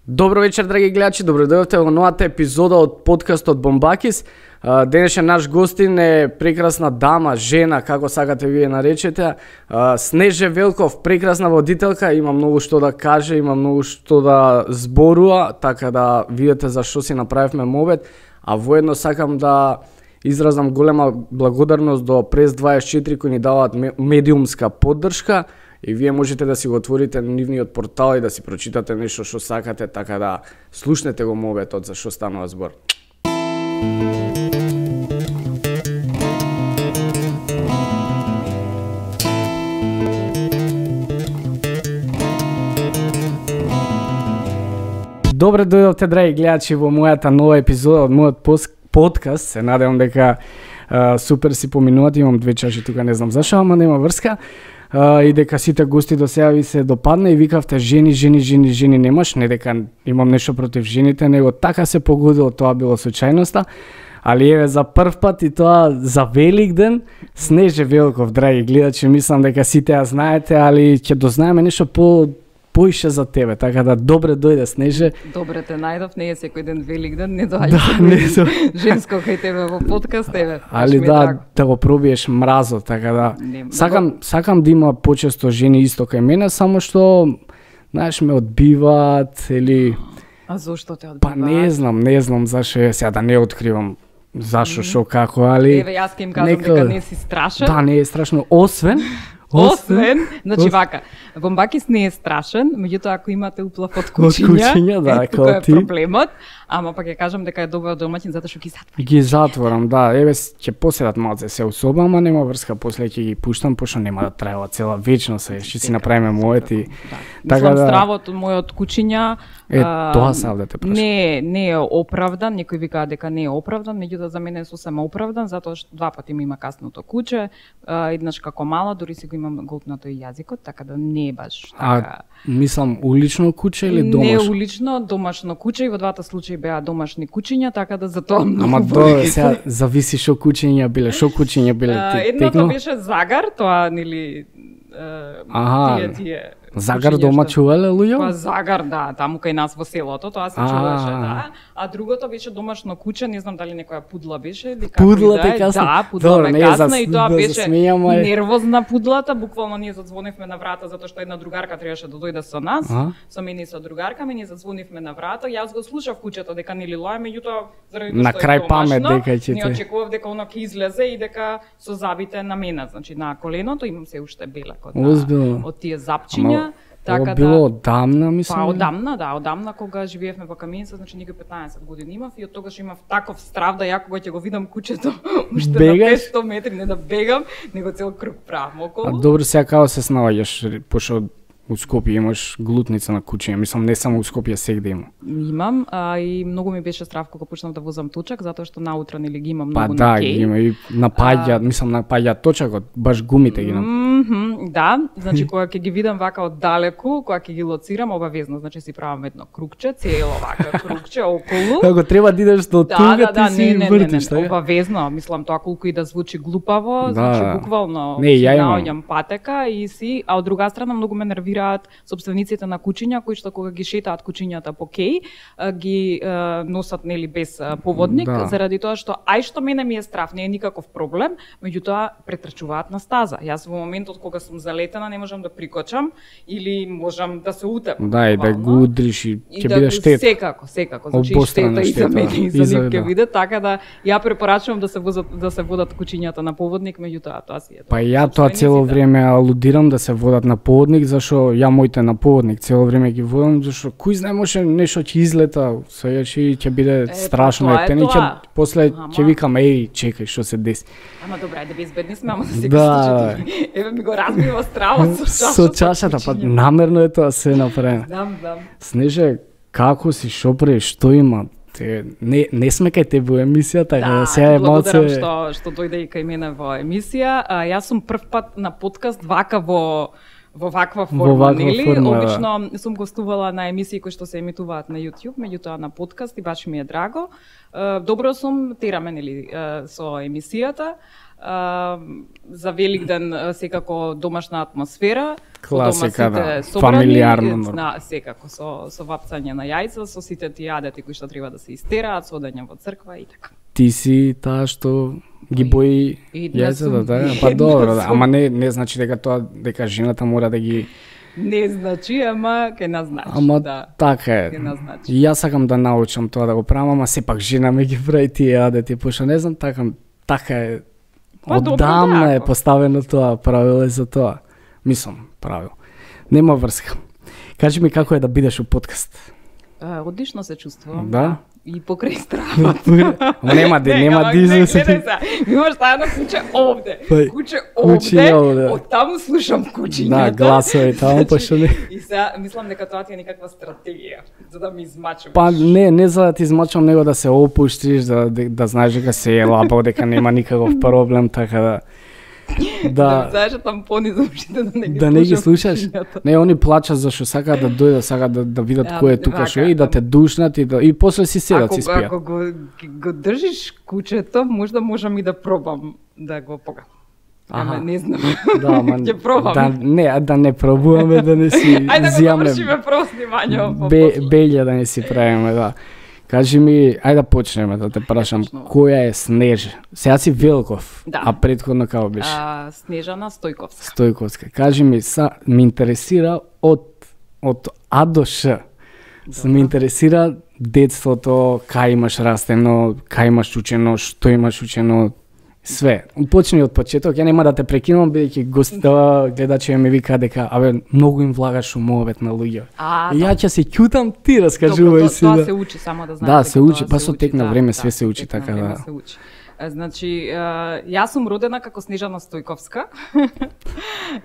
Добро вечер, драги гледачи, добро дојдовте во новата епизода од подкастот Бомбакис. Денешен наш гостин е прекрасна дама, жена, како сакате вие наречете. Снеже Велков, прекрасна водителка, има многу што да каже, има многу што да зборува, така да видите за што си направивме мовет, а воедно сакам да изразам голема благодарност до Прес 24 кои ни даваат медиумска поддршка. И вие можете да си го отворите нивниот портал и да си прочитате нешто што сакате, така да слушнете го моветот за што станува збор. Добре дојдовте, драги гледачи, во мојата нова епизода од мојот подкаст. Се надевам дека супер си поминувате, имам 2 чаши тука, не знам зашо, ама нема врска. И дека сите гости до сега ви се допадна и викавте жени немаш, не дека имам нешто против жените, него така се погодило, тоа било случајноста. Али еве за прв пат и тоа за Великден, Снеже Велков, драги гледачи, мислам дека сите ја знаете, али ќе дознаеме нешто поише за тебе, така да добре дојде, Снеже. Добре те најдов, не е секој ден Великден, не доаѓа женско кај тебе во подкаст, еве. Али да го пробиеш мразот, така да. Сакам да има почесто жени исто кај мене, само што знаеш ме одбиваат или А зошто те одбиваат? Па не знам зашо, сега да не откривам зашо, шо, како, али еве јас ќе им кажам дека не си страшен. Да, не е страшно, освен, значи вака, Бомбакис не е страшен, меѓутоа ако имате уплав од кучиња, да, тука е проблемот, ама пак ќе кажам дека е добар домаќин затоа што ги затворам, да, еве ќе поседат малце се усоба, ама нема врска, после ќе ги пуштам, пошто нема да траева цела вечност, ќе си направиме моети. Така да стравот мојот кучиња тоа се да те прашам. Не е оправдан, некои викаат дека не е оправдан, меѓутоа за мене е сосема оправдан, затоа што 2 пати ми има касното куче, еднаш како мала, дури си го имам голтнато и јазикот, така да не е баш така. Мислам улично куче или домашно? Не улично, домашно куче, и во двата случаи беа домашни кучиња, така да затоа многу. Ама сега зависи што кучиња биле, едното беше загар, тоа нели тие Загар дома чувале луѓе? Па загар, да, таму кај нас во селото, тоа се чуваше, да. А другото беше домашно куче, не знам дали некоја пудла беше или како пудла те касна. Да, пудла ме касна и тоа беше нервозна пудлата, буквално ние зазвонивме на врата затоа што една другарка требаше да дојде со нас, со мене и со другарка, ние зазвонивме на врата, јас го слушав кучето дека нели лае, меѓутоа заради тоа што е домашно, не очекував дека оно ќе излезе и дека со забите на мене, значи на коленото имам се уште белак од тие запчиња. Така било одамна, мислам. Па одамна кога живеевме во Каменица, значи некои 15 години имав и од тогаш имав таков страв да ја кога ќе го видам кучето уште на 500 метри, не да бегам, него цел круг правам околу. А добро, сега како се снаоѓаш, пошто у Скопје имаш глутница на кучиња, мислам не само у Скопје, сегде има. Имам, и многу ми беше страв кога почнав да возам точак, затоа што наутро нели ги имам многу на кеј. Па да, има и напаѓа, мислам напаѓа точакот, баш гумите ги да, значи кога ќе ги видам вака од далеку, кога ќе ги лоцирам, обавезно, значи си правам едно кругче, цело вака кругче околу. Како треба да идеш до тука, ти си вртиш, така? Обавезно, мислам тоа колку и да звучи глупаво, значи буквално наоѓам патека и си, а од друга страна многу ме нервираат сопствениците на кучиња кои што кога ги шетаат кучињата по кеј, ги носат нели без поводник, заради тоа што ај што мене ми е страв, не е никаков проблем, меѓутоа претрчуваат на стаза. Јас во моментот кога сум залетена не можам да прикочам или можам да се утепам. Да, и да го удриш и ќе биде штета. Секако, значи штета и за мене и за нив ќе биде, така да ја препорачувам да се водат кучињата на поводник, меѓутоа тоа си е. Па ја тоа цело време алудирам да се водат на поводник, зашо ја моите на поводник цело време ги водам, зашо кој знае може нешто ќе излета, ќе биде страшно и после ќе викам чекај што се деси. Ама добре, ајде безбедни сме, ама да се еве ми го разбива стравот со чашата, па намерно е тоа се направено. Дам. Снеже, како си, шо правиш, што има? Не сме кај тебе во емисија, така да сега е малце. Благодарам што дојде и кај мене во емисија. Јас сум прв пат на подкаст вака во во ваква форма, нели? Обично сум гостувала на емисии кои што се емитуваат на YouTube, меѓутоа на подкаст и баш ми е драго. Добро сум, тераме, нели, со емисијата. За Великден секако домашна атмосфера, класика, да, фамилиарно, секако со вапцање на јајца, со сите тие адети кои што треба да се истераат, со одење во црква и така. Ти си таа што ги бои јајцата, да, па добро, да, ама не значи дека жената мора да ги не значи, ама ке назначи. Ама да, така е. Јас сакам да научам тоа да го правам, ама сепак жена ме ги прави тие адети, пошто не знам, така е. Оддамна е поставено тоа, правило е за тоа. Мислам, правило. Нема врска. Кажи ми како е да бидеш у подкаст. Одлично се чувствувам. Да? И покрај стравата. Нема дизес. Имаш таа на куче овде. Куче овде. Од таму слушам кучињата. Да, гласови таму пошто не. И сега мислам дека тоа ти е некаква стратегија за да ми измачуваш. Па не за да ти измачувам, него да се опуштиш, да знаеш дека се е лапо, дека нема никаков проблем, така да. Да знаеш тампони за ушите да не ги слушаш. Не, они плачат зашто сакаат да дојдат, сакаат да видат кој е тука што и да те душнат и после си седат си спијат. Ако го држиш кучето, можам и да пробам да го погам. Ама не знам. Да, ама ќе пробам. Да не пробуваме, да не си зијаме. Ајде да го вршиме прво снимање. Белја да не си правиме, да. Кажи ми, ајде да почнеме, да те прашам, која е Снежа? Сега си Велков, да. А предходно како беше? Снежана Стојковска. Стојковска. Кажи ми, ме интересира од А до Ш. Ме интересира детството, кај имаш растено, кај имаш учено, што имаш учено, све. Почни од почеток, ја нема да те прекинувам, бидејќи гледачи ме вика дека многу им влагаш умовет на луѓе. Ја ќе се ќутам, ти раскажувај си. Тоа се учи, само да знаете. Да, се учи, па со тек на време све се учи, така да. Значи, јас сум родена како Снежана Стојковска.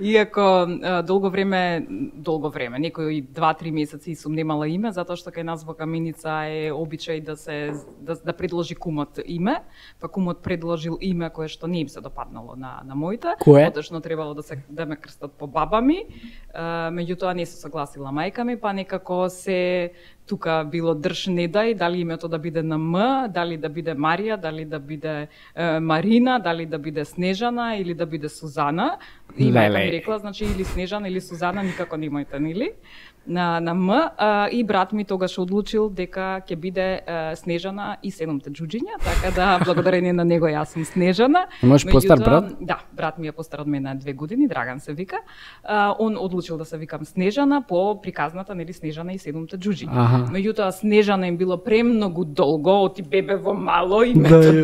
Иако долго време, некои 2-3 месеци сум немала име, затоа што кај нас во Каменица е обичај да предложи кумот име, па кумот предложил име кое што не им се допаднало на моите. Поточно требало да ме крстат по баба ми. Меѓутоа не се согласила мајка ми, па некако се тука било држ не дај, дали името да биде на М, дали да биде Марија, дали да биде Марина, дали да биде Снежана или да биде Сузана. И мајка ми рекла, значи или Снежана или Сузана, никако немојте, нели? На М, и брат ми тогаш одлучил дека ќе биде Снежана и 7 џуџиња, така да благодарение на него јас сум Снежана. Имаш постар брат? Да, брат ми е постар од мене 2 години, Драган се вика. Он одлучил да се викам Снежана по приказната, нели, Снежана и 7 џуџиња. Меѓутоа Снежана им било премногу долго, оти бебево мало и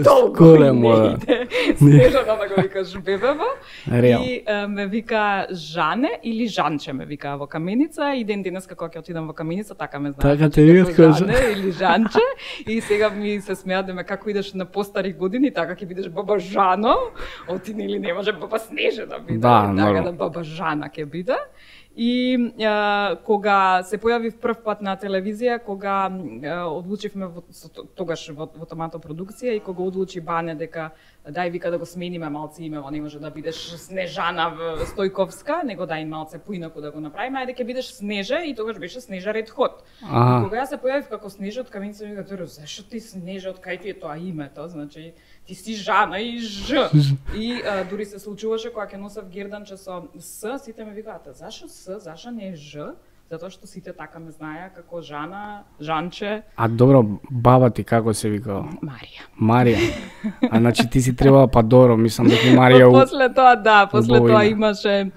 долго не иде. Снежана да го викаш бебево. И ме вика Жане или Жанче ме вика во Каменица и денес како ќе отидам во Каменица, така ме знаат. Така те видат кој Жане или Жанче. И сега ми се смеат дека како идеш на постари години, така ќе бидеш баба Жано. Оти нели не може баба Снежа да биде, така да баба Жана ќе биде. И кога се појавив прв пат на телевизија, кога одлучивме тогаш во Томато продукција и кога одлучи Бане дека дај вика да го смениме малце имево, не може да бидеш Снежана Стојковска, него дај малце поинаку да го направиме, ајде ќе бидеш Снежа и тогаш беше Снежа Ред Хот. Кога ја се појавив како Снежа од Каменица, ми кажа, зашто ти Снежа, од кај ти е тоа името, значи ти си Жана и Ж. И дури се случуваше кога ќе носев герданче со С, сите ме викаат, зашо С, зашо не е Ж? Затоа што сите така ме знаеа како Жана, Жанче. А добро, баба ти како се викала? Марија. А значи ти си требала па добро, мислам дека Марија. После тоа, после тоа имаше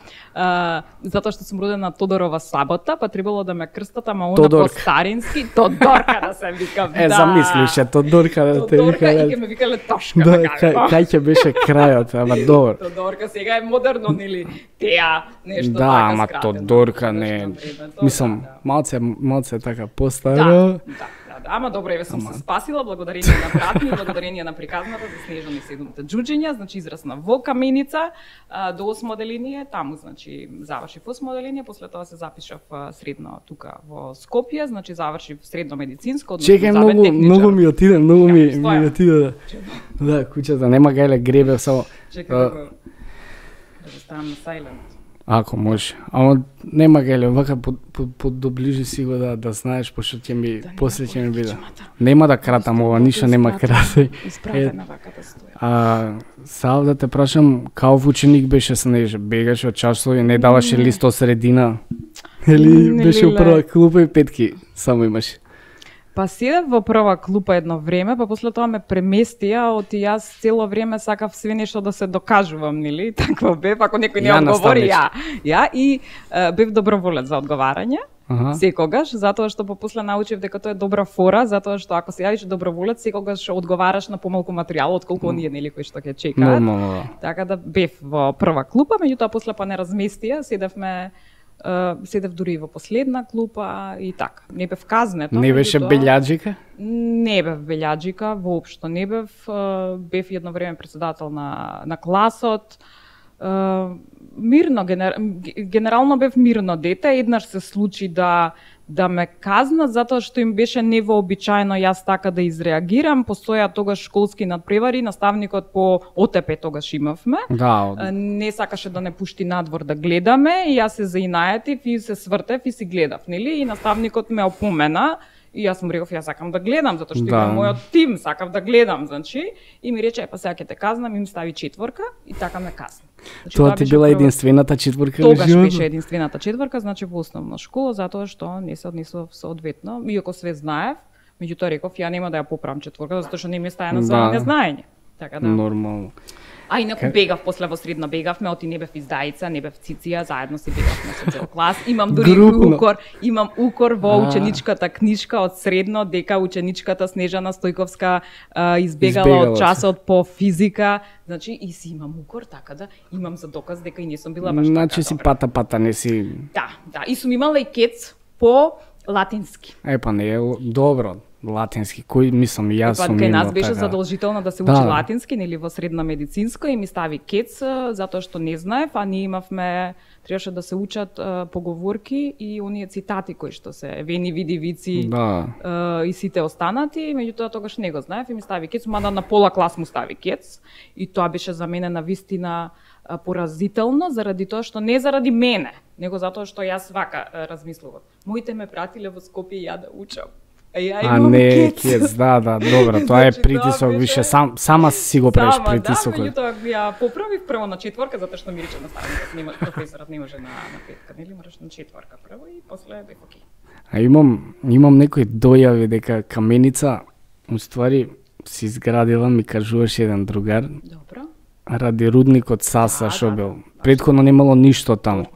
затоа што сум родена Тодорова сабота, па требало да ме крстат, ама она по старински Тодорка да се викам. Замислише Тодорка да те викале. Тодорка и ќе ме викале Тошка. Да, кај ќе беше крајот, ама добро. Тодорка сега е модерно, нели? Теа нешто така. Да, ама Тодорка не. Мислам, малце така постаро. Да. Ама добро, еве сум се спасила благодарение на брат ми, благодарение на приказната за Снежана и 7 џуџиња, значи израсна во Каменица до 8 оделение, таму значи завршив 8 оделение, после тоа се запишав средно тука во Скопје, значи завршив средно медицинско, односно Чекај, многу ми отиде, ми отиде. Да, куќата нема гајле гребе само. Чекај да ставам на silent. Ако може. Ама нема геле, вака доближи си го да знаеш, пошто ќе ми после ќе ми биде. Нема да кратам ова, ништо нема крати. Испратена вака да стоја. Сав да те прашам, као ученик беше Снеже? Бегаше од часови, не даваше лист од средина? Или беше прва клупа и петки само имаше? Па седев во прва клупа едно време, па после тоа ме преместија, оти јас цело време сакав све нешто да се докажувам, нели? Такво бев, ако некој не одговори, ја и бев доброволец за одговарање. Секогаш, затоа што после научив дека тоа е добра фора, затоа што ако се јавиш доброволец, секогаш одговараш на помалку материјал отколку оние нели кои што ќе чекаат. Така да бев во прва клупа, меѓутоа после па не разместија, седев дури и во последна клупа и така. Не бев казнето. Не беше белјаджика? Не бев белјаджика, воопшто не бев. Бев едно време председател на класот. Мирно, генерално бев мирно дете. Еднаш се случи да ме казнат затоа што им беше невообичаено јас така да изреагирам. Постоја тогаш школски надпревари, наставникот по ОТП тогаш имавме. Не сакаше да не пушти надвор да гледаме и јас се заинаетив и се свртев и си гледав, нели? И наставникот ме опомена. И јас му реков, јас сакам да гледам, затоа што имам мојот тим, сакав да гледам, значи. И ми рече, па сега ќе те казнам, и ми стави 4 и така ме казна. Значи, тоа ти била единствената 4 Тогаш беше единствената 4, значи во основна школа, затоа што не се однесов соодветно. Иако све знаев, меѓутоа реков, ја нема да ја поправам 4, затоа што не ми е стајано за незнаење. Така да. Нормално. А инаку бегав, после во средно бегавме, оти не бев издаица, не бев циција, заедно си бегавме со цел клас. Имам дури укор во ученичката книжка од средно, дека ученичката Снежана Стојковска избегала од часот по физика. Значи, и си имам укор, така да имам за доказ дека и не сум била баш така. Значи си пата, не си... Да, и сум имала и кец по латински. Па не е добро. Латински, кој мислам и јас сум имал. Кај нас беше задолжително да се учи латински, нели во средна медицинска и ми стави кец затоа што не знаев, а ние имавме требаше да се учат поговорки и оние цитати кои што се вени види вици и сите останати, меѓутоа тогаш не го знаев и ми стави кец, мада на пола клас му стави кец и тоа беше за мене навистина поразително заради тоа што не заради мене, него затоа што јас вака размислував. Моите ме пратиле во Скопје и ја да учам. Не, кец, добро, тоа е притисок, више, сама си го правиш притисок. Меѓутоа ја поправив прво на 4, затоа што ми рече наставникот, професорот не може на 5, нели мораш на 4 прво и после бев окей. Имам некои дојави дека каменица, уствари, си изградила, ми кажуваше еден другар. Добро. Ради рудникот Саса што бил. Предходно немало ништо таму.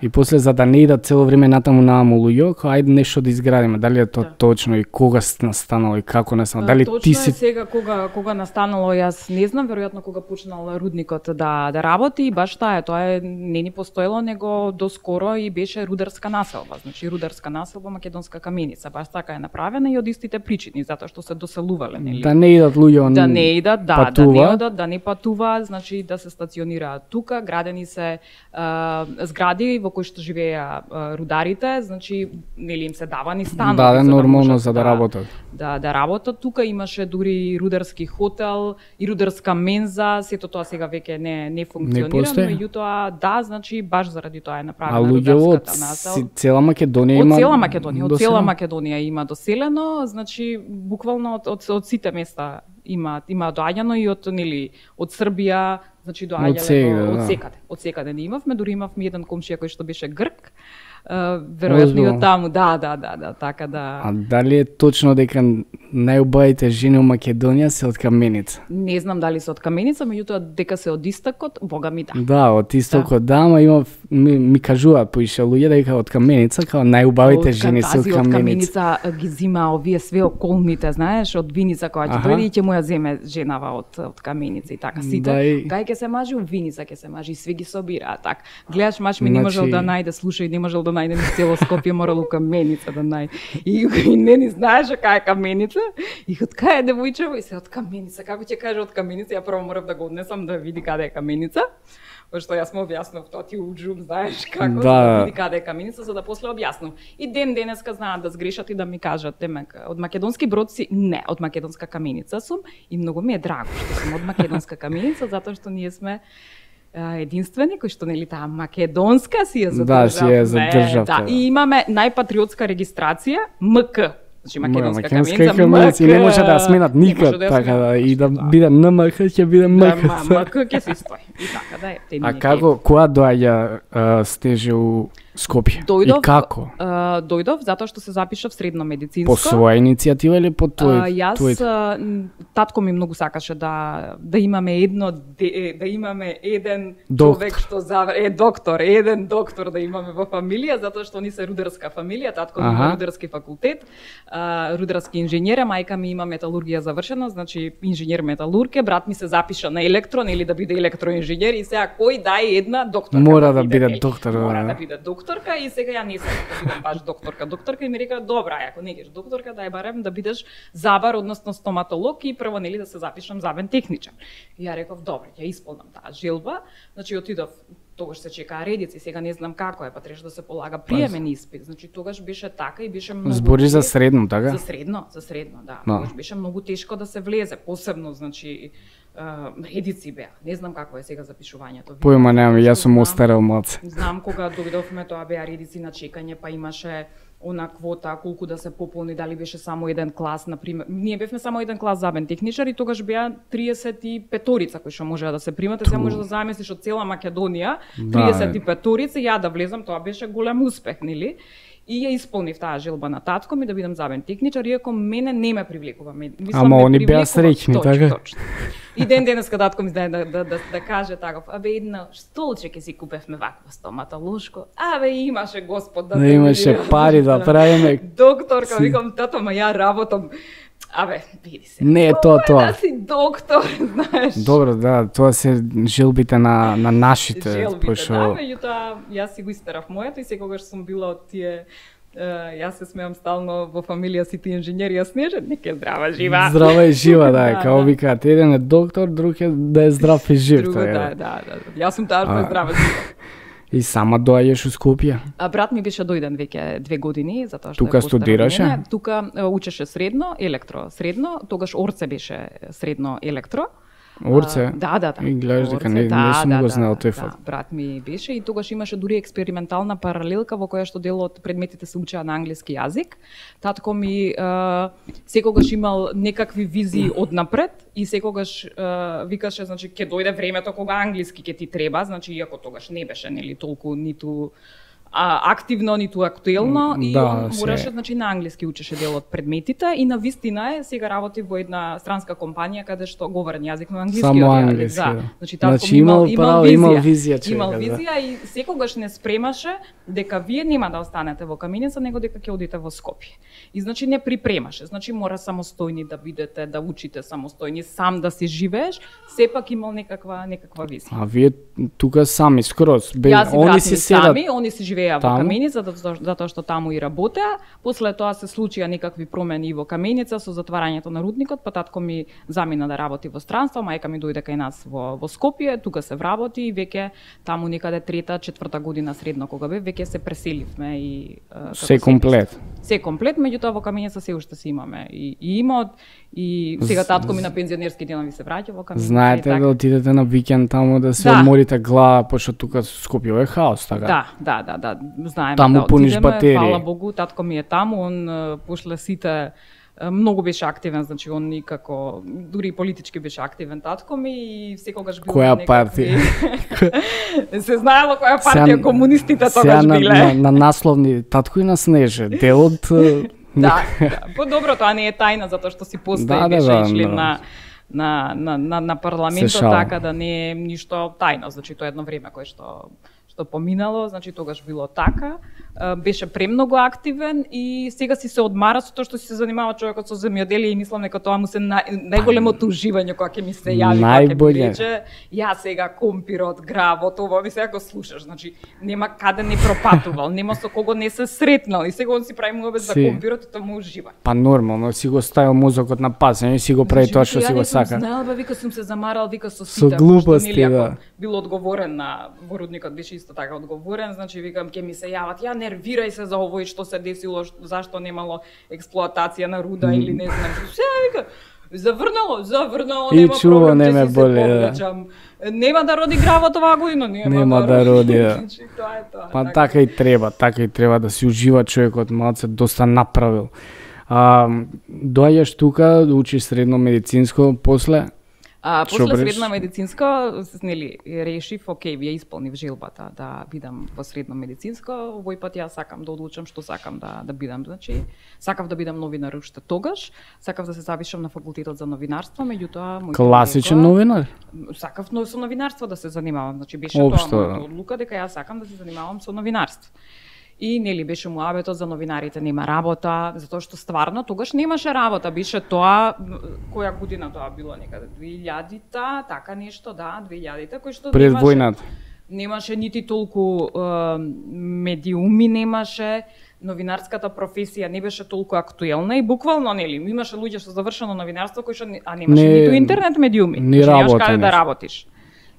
И после за да не идат цело време натаму нааму луѓе, ајде нешто да изградиме. Дали е тоа точно и кога настанало и како настанало? Дали точно ти си сега кога настанало, јас не знам, веројатно кога почнал рудникот да работи, баш таа тоа не ни постоело, него доскоро и беше рударска населба. Значи рударска населба Македонска каменица, баш така е направена и од истите причини, затоа што се доселувале, нели? Да не идат луѓе, да не идат, да не одат, да не патуваат, значи да се стационираат тука, градени се згради во кои што живееа рударите, значи нели им се давани станови. Да, нормално за да работат. Да работат тука, имаше дури рударски хотел и рударска менза, сето тоа сега веќе не функционира, меѓутоа значи баш заради тоа е направена рударската населба. Цела Македонија има. Од цела Македонија има доселено, значи буквално од сите места има доаѓано и од Србија, значи доаѓале од секаде не имавме, дури имавме еден комшија кој што беше грк. Веројатно и од таму, така да. А дали е точно дека најубавите жени во Македонија се од Каменица? Не знам дали се од Каменица, меѓутоа дека се од истокот, бога ми да. Да, од истокот ама ми кажуваат поише луѓе дека од Каменица као најубавите жени се од Каменица. Од Каменица ги зима овие све околните, знаеш, од Виница која ќе дојде и ќе му ја земе женава од Каменица и така сите. Кај ќе се мажи у Виница, ќе се мажи и све ги собираат така. Гледаш мач ми не можел да најде, слушај, не можел да најде ни цело Скопје, морало Каменица да најде. И не ни знаеше кај е Каменица. И од кај е девојчево и се од Каменица. Како ќе каже од Каменица? Ја прво морав да го однесам да види каде е Каменица. Пошто јас му објаснав тоа ти уџум, знаеш како да види каде е Каменица, за да после објаснам. И денеска знаат да сгрешат и да ми кажат, демек, од македонски брод си? Не, од македонска Каменица сум и многу ми е драго што сум од македонска Каменица, затоа што ние сме единствени, кој што нели таа македонска си ја задржавме. Да, си ја задржавте. Да, и имаме најпатриотска регистрација МК. Значи македонска каменица, и не може да ја сменат никад, така да, и да биде НМК, ќе биде МК. МК ќе се стои. И така да е. А како, која доаѓа стеже у Скопје? Дојдов, и како? Дојдов затоа што се запишав средно медицинско. По своја иницијатива или по Јас татко ми многу сакаше да имаме да имаме еден човек што доктор, еден доктор да имаме во фамилија, затоа што они се рударска фамилија, татко ми има рударски факултет, рударски инженер, мајка ми има металургија завршена, значи инженер металург, брат ми се запиша на електрон или да биде електроинженер и сега кој дај една докторка. Мора да биде доктор. Мора да биде докторка и сега ја не сакам да бидам баш докторка. Докторка и ми река добра, ако не геш докторка, дај барем да бидеш забар, односно стоматолог и прво нели да се запишам забен техничар. И ја реков добро, ќе исполнам таа желба. Значи отидов, тогаш се чекаа редици, сега не знам како е, па требаше да се полага приемен испит. Значи тогаш беше така и беше многу. Збори за средно, така? За средно, да. Тогаш беше многу тешко да се влезе, посебно значи редици беа. Не знам како е сега запишувањето. Појма немам, јас сум остарел мац. Знам кога дојдовме, тоа беа редици на чекање, па имаше она квота колку да се пополни, дали беше само еден клас, например. Ние бевме само еден клас забен техничар и тогаш беа 35-торица кои што можеа да се примат, сега може да замислиш од цела Македонија, 35-торица, ја да влезам, тоа беше голем успех, нели? И ја исполнив таа желба на татко ми да бидам забен техничар, иако мене не ме привлекува. Ама они беа среќни, така? Точно. И денеска татко ми знае да каже таков, абе едно столче ќе си купевме вакво стоматолошко, абе имаше Господ да имаше пари да правиме. Докторка, викам тато, ма ја работам. Абе, види се. Не е тоа. Да си доктор, знаеш. Добро, да, тоа се желбите на нашите. Желбите, да, меѓутоа, јас си го истерав моето и секогаш сум била од тие. Јас се смеам стално во фамилија сите инженери, јас не нека здрава жива. Здрава и жива, да, као викаат, еден е доктор, друг е да е здрав и жив. Друго, да. Јас сум таа што е здрава жива. И сама доаѓаш у Скопје? Брат ми беше дојден веќе 2 години, затоа што тука студираше? Тука учеше средно, електро средно, тогаш Орце беше средно електро. Орце? Да. И гледаш дека не сум го знаел тој факт. Брат ми беше и тогаш имаше дури експериментална паралелка во која што дел од предметите се учеа на англиски јазик. Татко ми секогаш имал некакви визии однапред и секогаш викаше, значи ќе дојде времето кога англиски ќе ти треба, значи иако тогаш не беше нели толку ниту активно, ниту актуелно и он мораше, значи на англиски учеше дел од предметите и на вистина е сега работи во една странска компанија каде што говорен јазик на англиски. Само англиски, да. Значи имал визија. Имал визија и секогаш не спремаше дека вие нема да останете во Каменица, него дека ќе одите во Скопје. И значи не припремаше, значи мора самостојни да бидете, да учите самостојни, сам да си живееш, сепак имал некаква визија. А вие тука сами скроз, они си сами, они си живееа во Каменица, затоа што таму и работеа. После тоа се случија некакви промени во Каменица со затварањето на рудникот, па татко ми замина да работи во странство, мајка ми дојде кај нас во Скопје, тука се вработи и веќе таму некаде 3-4 година средно кога бев, веќе се преселивме и се комплет. Се комплет, меѓутоа во Каменица се уште си имаме и имот и сега татко ми на пензионерски денови се враќа во Каменица. Знаете да отидете на викенд таму да се одморите глава, пошто тука Скопје е хаос, така? Да, знаеме таму да пуниш батерии. Фала Богу, татко ми е таму, он пошле сите многу беше активен, значи он никако дури политички беше активен татко ми и секогаш бил која партија? Се знаело која партија комунистите тогаш биле. На насловни татко и на Снеже, дел од Да, добро, тоа не е тајна затоа што си постои беше член на парламентот, така да не е ништо тајно, значи тоа е едно време кое што поминало, значи тогаш било така, беше премногу активен и сега си се одмара со тоа што си се занимава човекот со земјоделие и мислам дека тоа му се најголемото уживање кога ќе ми се јави, кога ќе ми рече ја сега компирот, гравот, ова ми сега го слушаш, значи нема каде не пропатувал, нема со кого не се сретнал и сега он си прави муабет за компирот и тоа му ужива. Па нормално, си го ставил мозокот на пазење и си го прави тоа што си го сака. Знаел бе, вика сум се замарал, вика со сите. Со глупости, да. Бил одговорен на во рудникот, беше исто така одговорен, значи викам ќе ми се јават, ја нервирај се за овој што се десило, зашто немало експлоатација на руда или не знам што. Вика, Заврнало, нема проблем, не ме боли. Нема да роди гравот оваа година, нема да роди. Тоа е тоа. Па така и треба да си ужива човекот, малце доста направил. Доаѓаш тука, учиш средно медицинско после? После средно медицинско, нели, решив, окей, ја исполнив желбата да бидам во средно медицинско, овој пат ја сакам да одлучам што сакам да бидам, значи, сакав да бидам новинар уште тогаш, сакав да се запишам на факултетот за новинарство, меѓутоа класичен новинар? Сакав со новинарство да се занимавам, значи беше тоа мојата одлука дека ја сакам да се занимавам со новинарство. И нели беше муабетот за новинарите нема работа, затоа што стварно тогаш немаше работа, беше тоа која година тоа било некаде 2000-та, така нешто, да, 2000-та, кој што пред војната. Немаше нити толку медиуми, немаше, новинарската професија не беше толку актуелна и буквално нели имаше луѓе што завршено новинарство кои што немаше ниту интернет медиуми, немаш каде да работиш.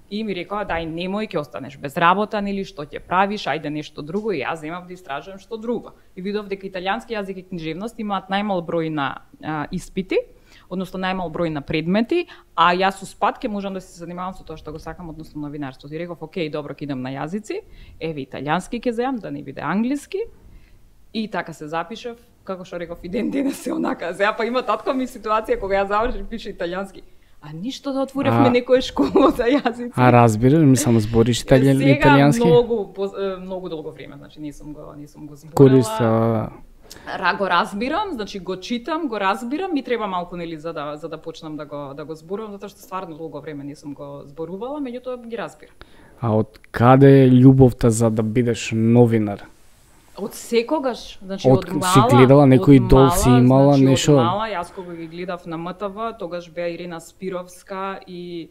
И ми рекоа, дај, немој, ќе останеш без работа, нели, што ќе правиш, ајде нешто друго, и јас земав да истражувам што друго. И видов дека италијански јазик и книжевност имаат најмал број на испити, односно најмал број на предмети, а јас со спад ќе можам да се занимавам со тоа што го сакам, односно новинарство. И реков, окей, добро, ќе идам на јазици, еве италијански ќе земам, да не биде англиски. И така се запишав, како што реков, и ден денес се онака. Сега па има татко ми ситуација кога ја завршив пише италијански. А ништо да отворевме некоја школа за јазици. А разбирам, само збориш италијански? Сега многу долго време, значи не сум го зборела. Користела. Го разбирам, значи го читам, го разбирам, ми треба малку нели за да почнам да го зборувам, затоа што стварно долго време не сум го зборувала, меѓутоа ги разбирам. А од каде е љубовта за да бидеш новинар? Од секогаш, значи од мала. Си гледала некој дол си имала значи, нешто? Од мала, јас кога ги гледав на МТВ, тогаш беа Ирина Спировска и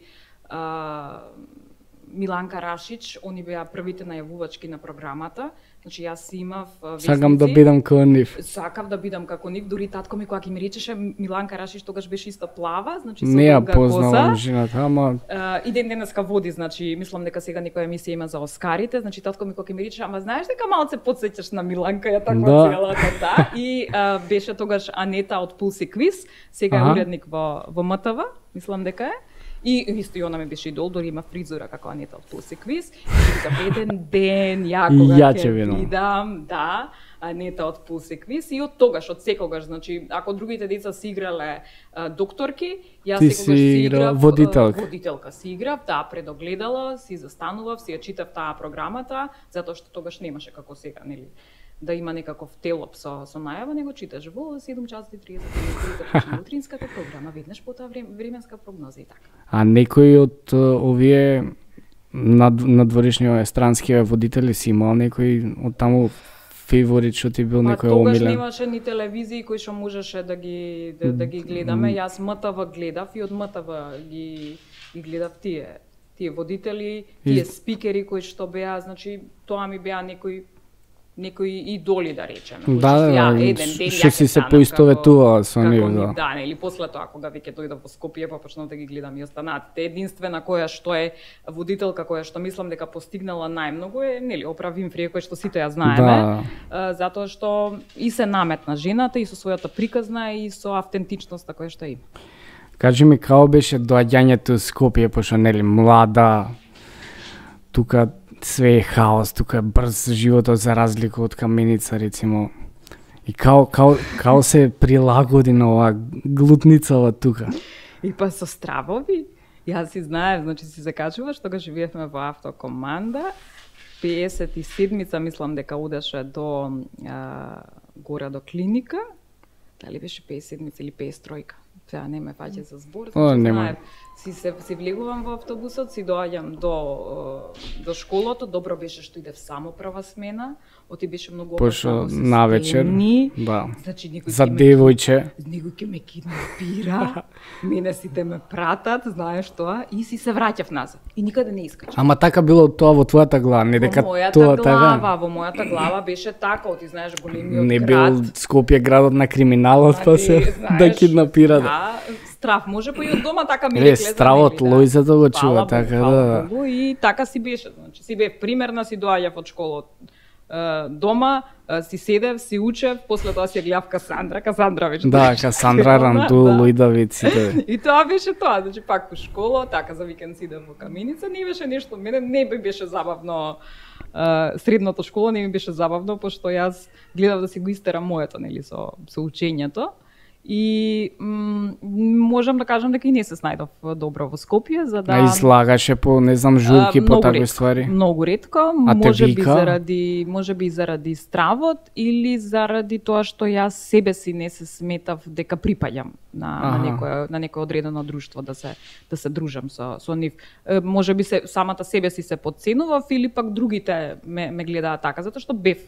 Миланка Рашич, они беа првите најавувачки на програмата. Значи јас си имав вестници. Сакам да бидам како нив. Сакав да бидам како нив, дури татко ми кога ќе ми речеше Миланка Рашич тогаш беше исто плава, значи со не ја познавам жената, ама и ден денеска води, значи мислам дека сега некоја емисија има за Оскарите, значи татко ми кога ќе ми речеше, ама знаеш дека малце потсеќаш на Миланка, ја таква целата, да. И беше тогаш Анета од Пулси Квиз, сега е уредник во МТВ, мислам дека е. И исто и она ми беше идол, дори има фризура како Анета од Пулси Квиз. И за еден ден ја кога ќе видам, да, Анета од Пулси Квиз и од тогаш, од секогаш, значи ако другите деца си играле докторки, јас секогаш си играв водителка си играв, да, пред огледало, си застанував, си ја читав таа програмата, затоа што тогаш немаше како сега, нели? Да има некаков телоп со најава, него читаш во 7:30 почне утринската програма, веднаш по таа временска прогноза и така. А некој од овие надворешни странски водители си имал некој од таму фаворит што ти бил некој омилен? Тогаш немаше ни телевизии кои што можеше да ги гледаме. Јас МТВ гледав и од МТВ ги гледав тие водители, тие спикери кои што беа, значи тоа ми беа некои идоли, да речеме. Да, што си се поистоветувала со нив, да. Да, или после тоа кога веќе дојдов во Скопје, па почнав да ги гледам и останатите. Единствена која што е водителка која што мислам дека постигнала најмногу е, нели, Опра Винфри, која што сите ја знаеме, затоа што и се наметна жената и со својата приказна и со автентичноста која што има. Кажи ми, како беше доаѓањето во Скопје, пошто нели млада, тука све е хаос, тука е брз животот за разлика од Каменица, рецимо. И као се прилагоди на оваа глутницава тука? И па со стравови. Јас си знаев, значи си закачуваш, тогаш живеевме во автокоманда. 57-ца мислам дека одеше до горе до клиника. Дали беше 57-ца или 53-ка? Сега не ме фаќа за збор, знаев. Си влегувам во автобусот, си доаѓам до школото, добро беше што идев само прва смена, оти беше многу опасно навечер, да. Значи за девојче. Некој ќе ме киднапира, мене сите ме пратат, знаеш тоа, и си се враќав назад. И никаде не искачам. Ама така било тоа во твојата глава, не дека тоа така. Во мојата глава беше така, ти знаеш големиот град. Не бил Скопје градот на криминалот, па се да киднапира. Да, страв, може па и од дома така ми рекле. Стравот Лојзата го чува така, да. И така си беше, значи си бев примерна, си доаѓав од школа дома, си седев, си учев, после тоа си ја гледав Касандра веќе. Да, Касандра Рандул, Давид сите. И тоа беше тоа, значи пак во школа, така за викенд си идем во Каменица, не беше нешто, мене не беше забавно. Средната школа не ми беше забавно, пошто јас гледав да си го истерам моето, нели, со учењето. И можам да кажам дека и не се снајдов добро во Скопје, за да излагаше по не знам журки по такви ствари. Многу ретко, можеби заради стравот или заради тоа што јас себе си не се сметав дека припаѓам на некој одредено друштво, да се дружам со нив. Можеби самата себе си се подценував или пак другите ме гледаат така, затоа што бев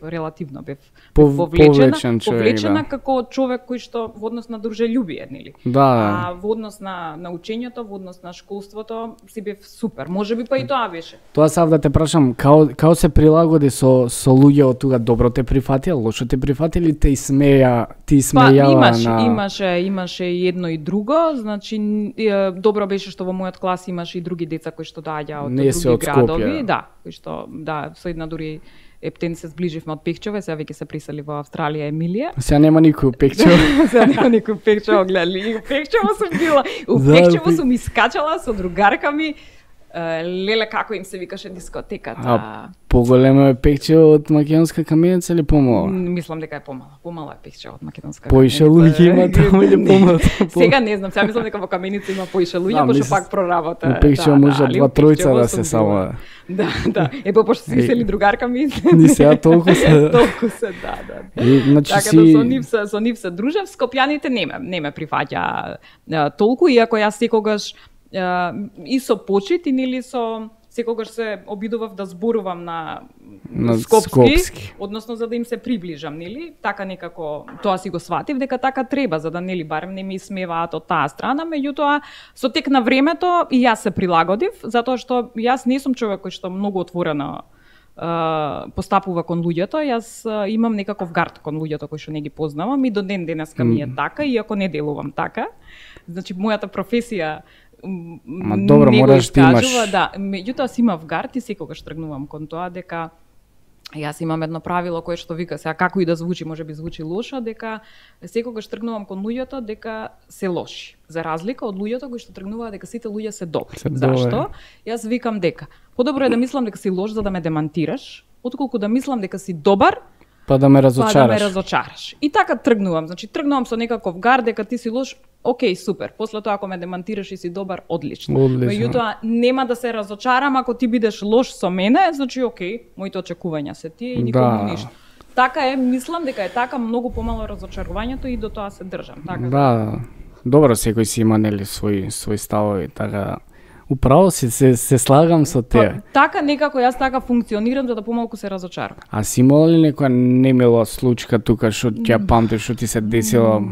повлечена како човек кој што во однос на дружелюбие, нели? Да. А во однос на учењето, во однос на школството, си бев супер. Можеби па и тоа беше. Тоа сам да те прашам, као се прилагоди со луѓе од тука, добро те прифатија, лошо те прифатија или ти смејала имаше едно и друго, значи добро беше што во мојот клас имаше и други деца кои што доаѓаа од други градови, кои што со една дури Ептен се зближивме од Пехчево, сега веќе се присели во Австралија Емилија. Сега нема никој Пехчево. Сега нема никој Пехчево, гледали. Пехчево сум била. У Пехчево сум искачала со другарка ми. Леле, како им се викаше дискотеката. Поголемо е Пехчево од Македонска Каменица или помала? Мислам дека е помала. Помала е Пехчево од Македонска Каменица. Поише луѓе има таму или помала? Сега не знам, сега мислам дека во Каменица има поише луѓе, пошто пак проработа. У Пехчево може 2-3 да се само. Да. Пошто се висели другарка ми. Ни сега толку се. Толку се, да. Така да со нив се дружев, скопјаните не ме прифаќа толку, иако јас секогаш и со почит и нели со секогаш се обидував да зборувам на скопски, односно за да им се приближам, нели? Така некако тоа си го сватив дека така треба, за да нели барем не ми смеваат од таа страна, меѓутоа со тек на времето и јас се прилагодив, затоа што јас не сум човек кој што многу отворено постапува кон луѓето. Јас имам некаков гард кон луѓето кои што не ги познавам и до ден денеска ми е така, иако не делувам така. Значи мојата професија добро, мораш да имаш. Да, меѓутоа си имав гард и секогаш тргнувам кон тоа дека јас имам едно правило кое што вика, сега како и да звучи, можеби звучи лошо, дека секогаш тргнувам кон луѓето дека се лоши. За разлика од луѓето кои што тргнуваат дека сите луѓе се добри. Зашто? Јас викам дека подобро е да мислам дека си лош за да ме демантираш, отколку да мислам дека си добар па да ме разочараш. И така тргнувам. Значи тргнувам со некаков гард дека ти си лош, окей, супер. После тоа ако ме демантираш и си добар, одлично. Меѓутоа нема да се разочарам ако ти бидеш лош со мене, значи окей, моите очекувања се тие и никому ништо. Така е, мислам дека е така, многу помало разочарувањето и до тоа се држам. Така. Да. Добро, секој си има нели свои ставови, така. Управо се слагам со те. Така некако јас така функционирам за да помалку се разочарам. А си имала ли некоја немила случка тука што ќе памтиш што ти се десило?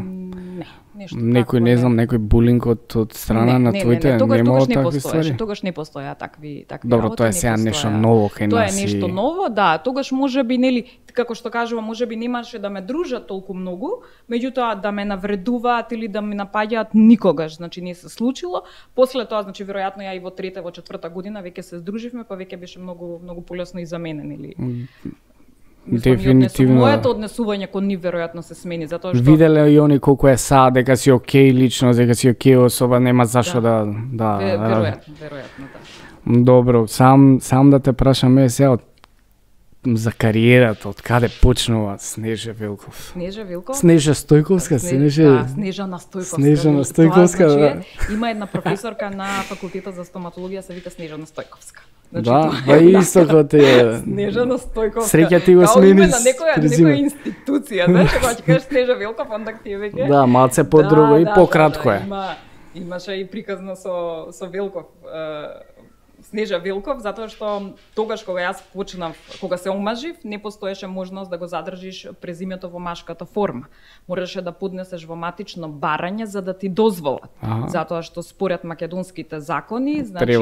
Некој не знам, некој булинг од страна на твоите, немало такви ствари? Тогаш не постоја такви Добро, тоа е сега нешто ново кај нас. Тоа е нешто ново, да, тогаш можеби нели како што кажувам, можеби немаше да ме дружат толку многу, меѓутоа да ме навредуваат или да ме напаѓаат никогаш, значи не се случило. После тоа, значи веројатно ја и во трета, во четврта година веќе се здруживме, па веќе беше многу полесно и за мене, нели? Дефинитивно. Моето однесување кон нив веројатно се смени, затоа што виделе и они колку е сад, дека си окей лично, дека си окей особа, нема зашто да. Веројатно, да. Добро, сам да те прашам сега за кариерата, од каде почнува Снежа Вилков? Снежа Стојковска, Снежана Стојковска. Да. Има една професорка на факултетот за стоматологија се вика Снежана Стојковска. Значи, да, исто е. Снежана Стојковска. Среќа ти го смени. На некоја институција, знаеш, кога ќе кажеш Снежа Вилков, онда ти е веќе. Да, малце подруго и пократко е. Имаше и приказна со Вилков. Снежа Вилков, затоа што тогаш кога јас почнав, кога се омажив, не постоеше можност да го задржиш презимето во машката форма. Мораше да поднесеш во матично барање за да ти дозволат. Затоа што според македонските закони, значи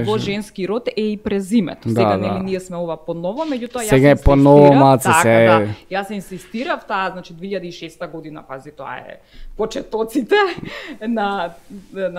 во женски род е и презимето. Сега нели ние сме ова поново, меѓутоа јас сега е поново маце се. Јас инсистирав таа, значи 2006 година, пази, тоа е почетоците на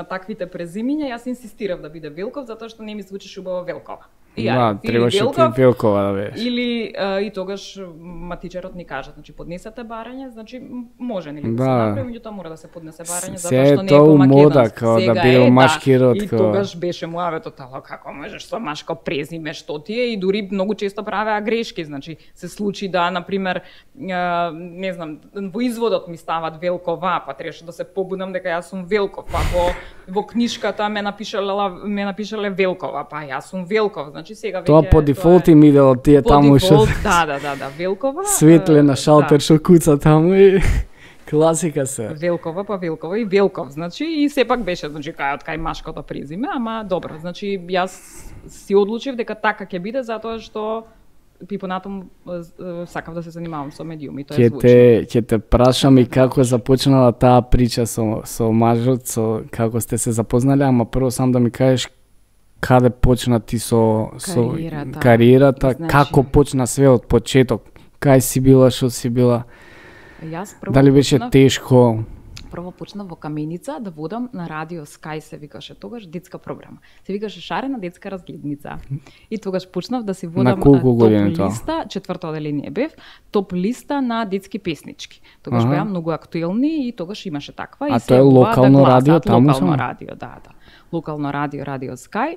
таквите презимиња, јас инсистирав да биде Вилков затоа што не ми звучиш убаво Велкова. требаше ти Велкова да беше. Или и тогаш матичарот ни кажа, значи поднесете барање, значи може нели да се направи, меѓутоа мора да се поднесе барање затоа што не е по македонски. Да биде машки род. И тогаш беше муаветот, како можеш со машко презиме, што ти е, и дури многу често правеа грешки, значи се случи да на пример не знам, во изводот ми стават Велкова, па требаше да се побунам дека јас сум Велков, па во книшката ме напишале Велкова, па јас сум Велков. Значи сега веќе тоа по дефолт им идело тие таму што. Да, Велкова. Светле на шалтер што куца таму и класика се. Велкова па Велкова и Велков, значи и сепак беше значи кај машкото презиме, ама добро, значи јас си одлучив дека така ќе биде затоа што и понатаму сакав да се занимавам со медиуми, тоа е звучи. Ќе те прашам и како започнала таа прича со мажот, со како сте се запознали, ама прво сам да ми кажеш каде почна ти со кариерата, значи, како почна све од почеток, кај си била, што си била, дали беше тешко? Прво почнав во Каменица да водам на радио Sky, се викаше тогаш детска програма. Се викаше Шарена детска разгледница. И тогаш почнав да се водам на топ листа, четврто оделение бев, топ листа на детски песнички. Тогаш беа многу актуелни и тогаш имаше таква. А тоа е локално радио таму? Локално радио, да. Локално радио, радио Sky,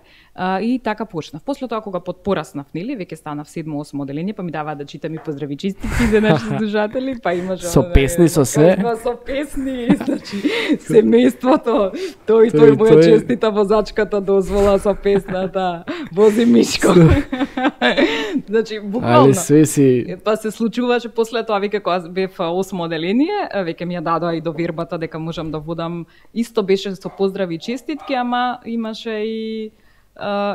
и така почнав. После тоа кога пораснав, нели, веќе станав 7-8 оделение, па ми даваа да читам и поздрави честитки за наши слушатели, па имаше со песни со се. Со песни, значи семејството, тој моја честита возачката дозвола со песната Вози Мишко. Значи буквално. Али свеси. Па се случуваше после тоа веќе кога бев 8 оделение, веќе ми ја дадоа и довербата дека можам да водам, исто беше со поздрави честитки, ама имаше и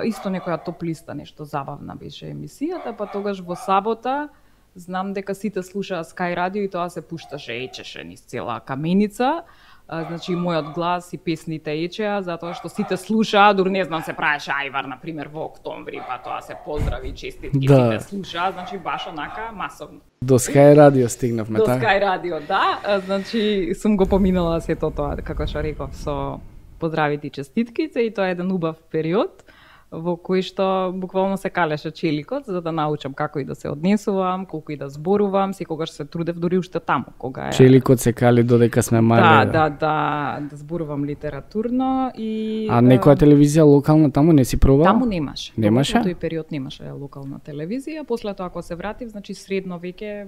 исто некоја топ листа, нешто забавна беше емисијата, па тогаш во сабота знам дека сите слушаа Sky радио и тоа се пушташе, ечеше низ цела Каменица. Значи мојот глас и песните ечеа затоа што сите слушаа, дури не знам се правеше ајвар на пример во октомври, па тоа се поздрави честитки, сите слушаа, значи баш онака масовно. До Sky радио стигнавме, така? До Sky радио, да, значи сум го поминала сето тоа, како што реков, со поздравите и честитките, и тоа е еден убав период во кој што буквално се калеше челикот за да научам како и да се однесувам, колку и да зборувам, секогаш се трудев дури уште таму кога е. Челикот се кали додека сме мали. Да зборувам литературно и А некоја телевизија локална таму не си пробала? Таму немаше. Немаше? Во тој период немаше локална телевизија, после тоа кога се вратив, значи средно веќе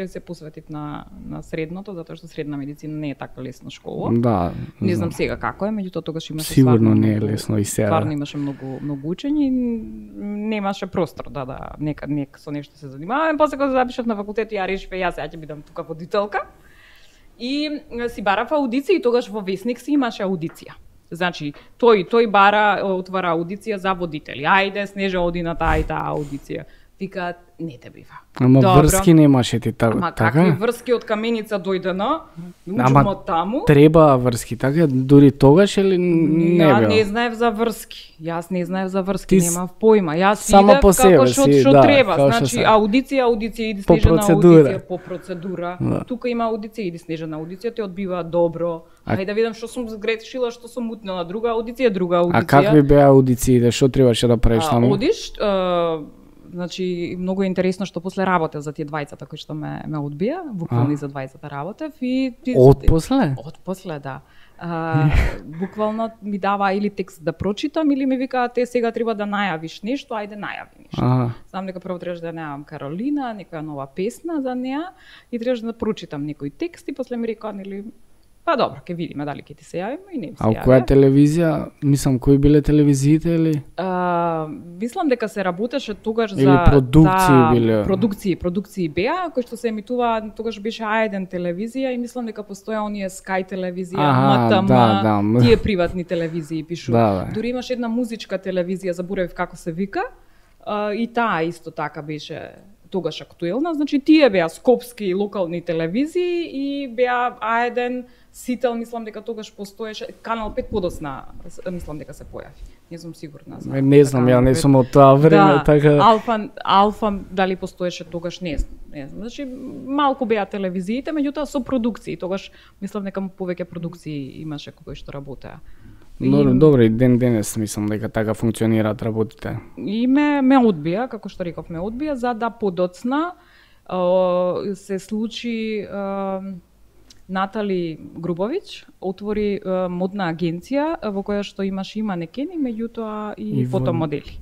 се посветив на средното, затоа што средна медицина не е така лесно школа. Да. Не знам сега како е, меѓутоа тогаш имаше сигурно не е лесно и сега. Стварно имаше многу учење, немаше простор да нека со нешто се занимавам. После кога запишав на факултет, ја решив јас ќе бидам тука водителка. И си барав аудиција и тогаш во Весник си имаше аудиција. Значи, тој бара, отвара аудиција за водители. Ајде, Снежа, оди на таа и таа аудиција. Викаат, не те бива. Ама добро. Врски немаше ти така? Ама какви врски од Каменица дојдено, учимо таму. Треба врски, така? Дури тогаш или не било? Ја не знаев за врски. Јас не знаев за врски, немав појма. Јас идев како што треба. Значи, аудиција, иди Снежана аудиција по процедура. Да. Тука има аудиција, иди Снежана аудиција, те одбива добро. Ајде да видам што сум згрешила, што сум мутнела. Друга аудиција. А какви беа аудициите? Што требаше да правиш таму? Одиш, значи многу е интересно што после работев за тие двајцата кои што ме одбија, буквално за двајцата работев и Отпосле, да. Буквално ми дава или текст да прочитам или ми викаат сега треба да најавиш нешто, ајде најави нешто. Знам дека прво требаше да најавам Каролина, некоја нова песна за неа и требаше да прочитам некој текст и после ми рекоа нели па добро, ќе видиме дали ќе ти се јавиме и не се јавиме. А која телевизија? Мислам, кои биле телевизиите или? Мислам дека се работеше тогаш или за продукции биле. Продукции беа кои што се емитуваа, тогаш беше А1 телевизија и мислам дека постоја оние Sky телевизија, МТМ, тие приватни телевизии пишува. Да. Дури имаше една музичка телевизија, заборавив како се вика, и таа исто така беше тогаш актуелна, значи тие беа скопски локални телевизии и беа А1, Сител, мислам дека тогаш постоеше, Канал 5 подосна, мислам дека се појави. Не сум сигурна. Не знам, ја не сум од тоа време, така. Алфа дали постоеше тогаш, не знам. Значи малку беа телевизиите, меѓутоа со продукции. Тогаш мислам дека повеќе продукции имаше кои што работеа. Добро, и денес мислам дека така функционираат работите. И ме одбија, како што реков, ме одбија, за да подоцна се случи Натали Грубович отвори модна агенција во која што имаше и манекени, меѓутоа и фотомодели.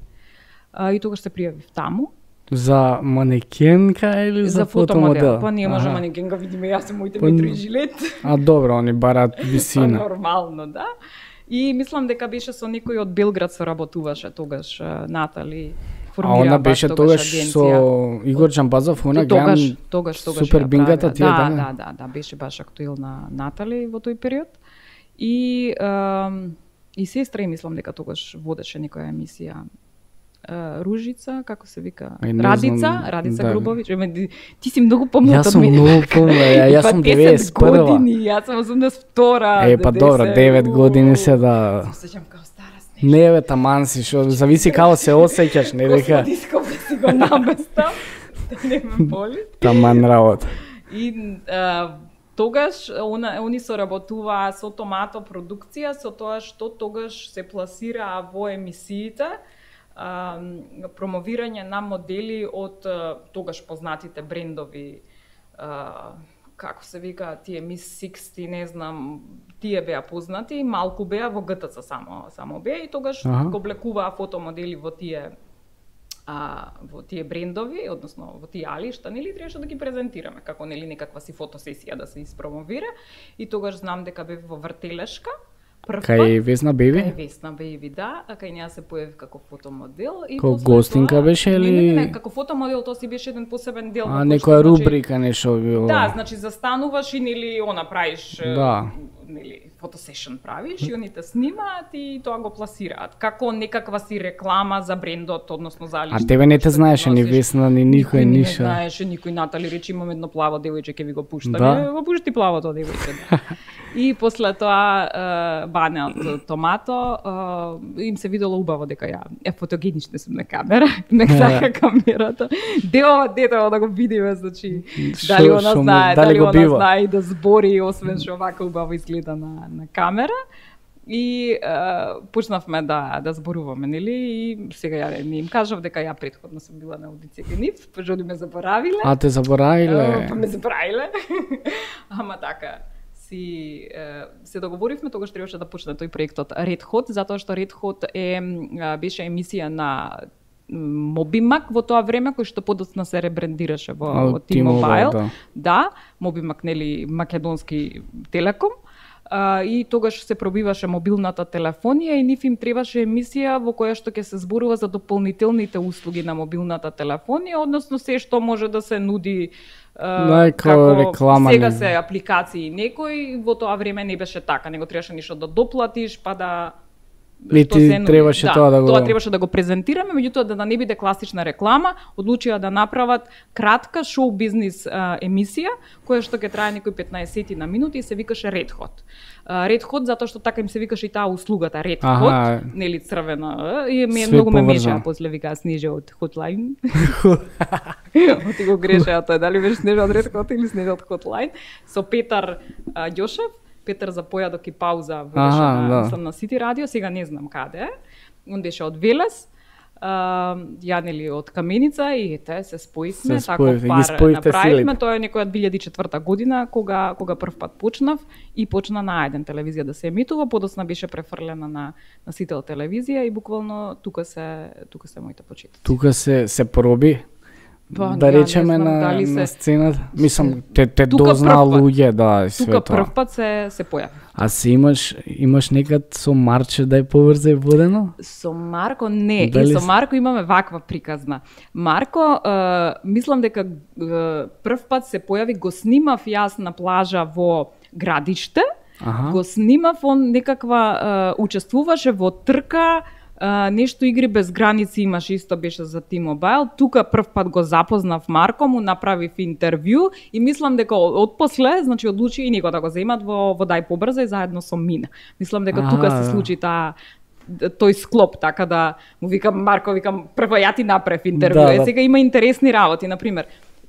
И тогаш се пријавив таму. За манекенка или за фотомодел? Па не може манекенка, видиме, јас сум моите метри и жилет. Добро, они барат висина. Нормално, да. И мислам дека беше со некој од Белград работуваше тогаш Натали. Она беше тогаш со Игор Чампазов, она гледам тогаш супер бингата тие, да, беше баш актуелна Натали во тој период. И сестра, мислам дека тогаш водеше некоја емисија Ружица, како се вика? Радица Грубович. Ти си многу помлад од мене. Јас сум многу помлад, јас сум 91. години, јас сум 82. Па добро, 9 години се да. Се сеќам како стара снежка. Не бе, таман си, шо зависи како се осеќаш, не дека. Господисков да си го наместам, да не ме боли. Таман работа. И тогаш они соработуваа со Томато продукција, со тоа што тогаш се пласираа во емисиите, промовирање на модели од тогаш познатите брендови, како се вика, тие Miss 60, не знам, тие беа познати, малку беа во ГТЦ само беа и тогаш го облекуваа фотомодели во тие брендови, односно во тие алишта, нели требаше да ги презентираме како нели некаква си фотосесија да се испромовира. И тогаш знам дека бев во Вртелешка. Кај Весна Беби? Кај Весна Беби, да, а кај неа се појави како фотомодел. Како гостинка беше или? Не, како фотомодел, тоа си беше еден посебен дел. Некоја рубрика нешто било? Да, значи застануваш и нели правиш, нели фотосешн правиш и они те снимаат и тоа го пласираат како некаква си реклама за брендот, односно за алишта. А тебе не те знаеше ни Весна, ни никој ниша. Не знаеше никој. Натали рече, имам едно плаво девојче, ќе ви го пуштам. Да? Го пушти плавото девојче. Да. И после тоа Бане од Томато им се видело убаво дека ја фотогенична сум на камера, не сака камерата. Детево да го видиме, значи дали она знае и да збори, освен што вака убаво изгледа на камера. И почнавме да зборуваме, нели? И сега ја не им кажав дека ја претходно сум била на аудиција кај нив, пожоди ме заборавиле. А те заборавиле? Па ме заборавиле. Ама така. Се договоривме, тогаш требаше да почне тој проектот Red Hot, затоа што Red Hot беше емисија на Мобимак во тоа време, кој што подоцна се ребрендираше во T-Mobile. Да, Мобимак, нели, македонски телеком. И тогаш се пробиваше мобилната телефонија и нив им требаше емисија во која што ќе се зборува за дополнителните услуги на мобилната телефонија, односно се што може да се нуди како реклама. Сега се апликации некој, во тоа време не беше така, него требаше ништо да доплатиш, па да требаше тоа требаше да го презентираме, меѓутоа да не биде класична реклама, одлучија да направат кратка шоу бизнис емисија која што ќе трае некои 15 на минути и се викаше Red Hot. Red Hot затоа што така им се викаше и таа услугата Red Hot, нели црвена, и многу ме меша, после викаа Снежа од Hotline. Оти го грешеа тоа, дали беше Снежа од Red Hot или Снежа од Hotline, со Петар Ѓошев. Петар за појадок и пауза водеше на Сити радио, сега не знам каде. Он беше од Велес, ја нели од Каменица и се споивме, таков пар направивме. Тоа е некоја 2004 година кога прв пат почнав и почна на А1 телевизија да се емитува, подоцна беше префрлена на Сител телевизија и буквално тука се моите почетоци. Тука се проби. Да речеме на сцената. Мислам, те дознаа луѓе, да, све тоа. Тука прв пат се појави. А си имаш некад со Марче да е поврзе водено? Со Марко не. И со Марко имаме ваква приказна. Марко, мислам дека прв пат се појави, го снимав јас на плажа во Градиште, го снимав, он некаква учествуваше во трка, нешто игри без граници имаше, исто беше за T-Mobile. Тука прв пат го запознав Марко, му направив интервју и мислам дека отпосле, значи одлучи и него да го земат во Дај побрза и заедно со Мина. Мислам дека тука се случи тој склоп, така да му викам Марко, прво ја ти направив интервју. Сега има интересни работи, например,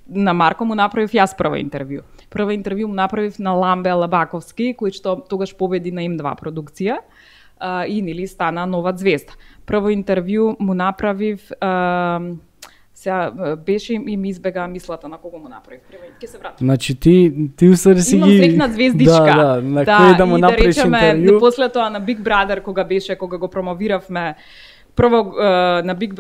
на Марко му направив јас прва интервју. Прва интервју му направив на Ламбе Лабаковски, кој што тогаш победи на Им2 продукција. и нели стана нова звезда. Прво интервју му направив сега беше и ми избега мислата на кого му направив. Ќе се вратам. Значи ти усари си ги... Имам срекна звездичка. На кој да му направиш интервју? После тоа на Big Brother, кога го промовиравме, прво на Big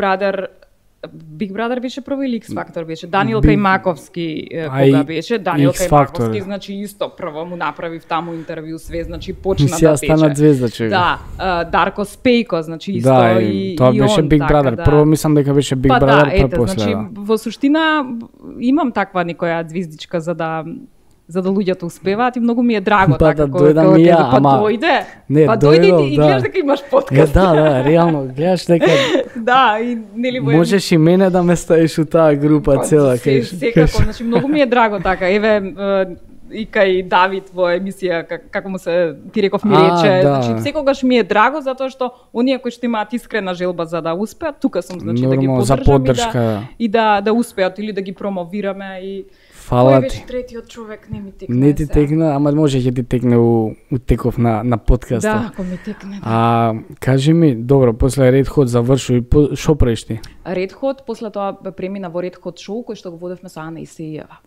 Brother беше прво или X Factor беше? Даниел Кајмаковски кога беше? Даниел Кајмаковски, значи исто прво му направив таму интервју све, значи почна да тече. Стана звезда човек. Да, Дарко Спејко, значи исто и тоа беше Big Brother. Прво мислам дека беше Big Brother, па после. Значи во суштина имам таква некоја звездичка за да луѓето успеваат и многу ми е драго така кога дојде. Па дојде и гледаш дека имаш подкаст. Да, реално гледаш дека да, и нели можеш и мене да ме ставиш у таа група цела кај. Секако, значи многу ми е драго така. Еве и кај Давид во емисија како му се ти реков ми рече, значи секогаш ми е драго затоа што оние кои што имаат искрена желба за да успеат, тука сум значи да ги поддржам и да успеат или да ги промовираме и фала ти. Тој третиот човек не ми текне. Не ти текна, ама може ќе ти текне у теков на подкаста. Да, ако ми текне. Да. Кажи ми, добро, после Red Hot заврши, шо правиш ти? Red Hot, после тоа премина во Red Hot шоу кој што го водевме со Ана Исејева.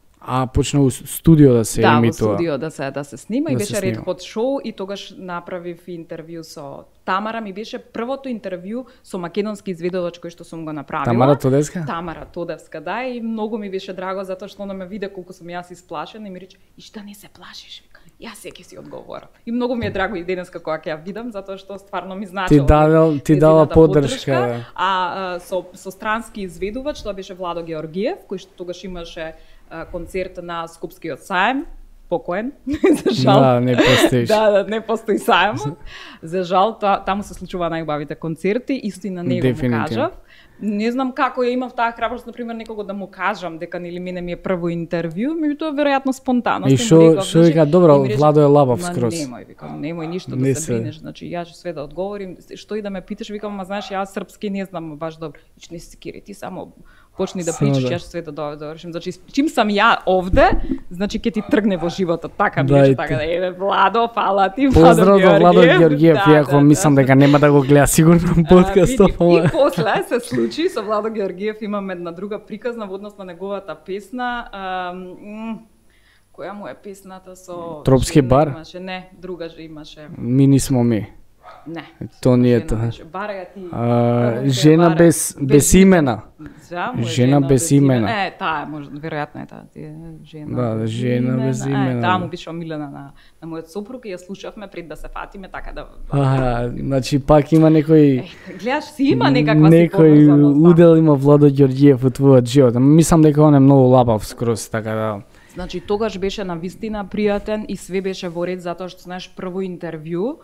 Почна у студио да се емитува. Да, во студио да се снима и беше Red Hot шоу и тогаш направив интервју со Тамара, ми беше првото интервју со македонски изведувач кој што сум го направила. Тамара Тодевска? Тамара Тодевска, да, и многу ми беше драго затоа што она ме виде колку сум јас исплашена и ми рече: "И шта не се плашиш?" Јас ќе си одговорам. И многу ми е драго и денеска кога ќе ја видам затоа што стварно ми значило. Ти дала поддршка. Со странски изведувач, тоа беше Владо Георгиев, кој што тогаш имаше концерт на Скопскиот саем, покоен, за жал. Да, не постоиш. Да, не постои саемот. За жал, таму се случува најубавите концерти, исто и на него му кажав. Не знам како ја имав таа храброст, например, некого да му кажам дека нели мене ми е прво интервју, меѓутоа веројатно спонтано. И шо вика, добро, Владо е лабав скроз. Немој ништо да се бринеш, значи ја ќе све да одговорим, што и да ме питаш, викам, ма знаеш, јас српски не знам баш добро. Не се секири, ти само почни да причаш, јас све да довршим. Значи, чим сам ја овде, значи ќе ти тргне во животот, така ми така да еве Владо, фала ти, Поздрав до Владо Георгиев, иако мислам дека нема да го гледа сигурно подкастот. И после се случи со Владо Георгиев, имам една друга приказна во однос на неговата песна. Која му е песната со Тропски бар? Имаше, не, друга же имаше. Ми нисмо ми. Не. То не е тоа. Бараја ти. Жена без имена. Жена без имена. Таа може веројатно е таа. Жена. Да, жена без имена. Таа му беше омилена на мојот сопруг и ја слушавме пред да се фатиме, така да. Значи пак има некој. Гледаш, си има некаква некој удел има Владо Ѓорѓиев во твојот живот. Мислам дека он е многу лабав скроз, така да. Значи тогаш беше навистина пријатен и све беше во ред затоа што знаеш прво интервју.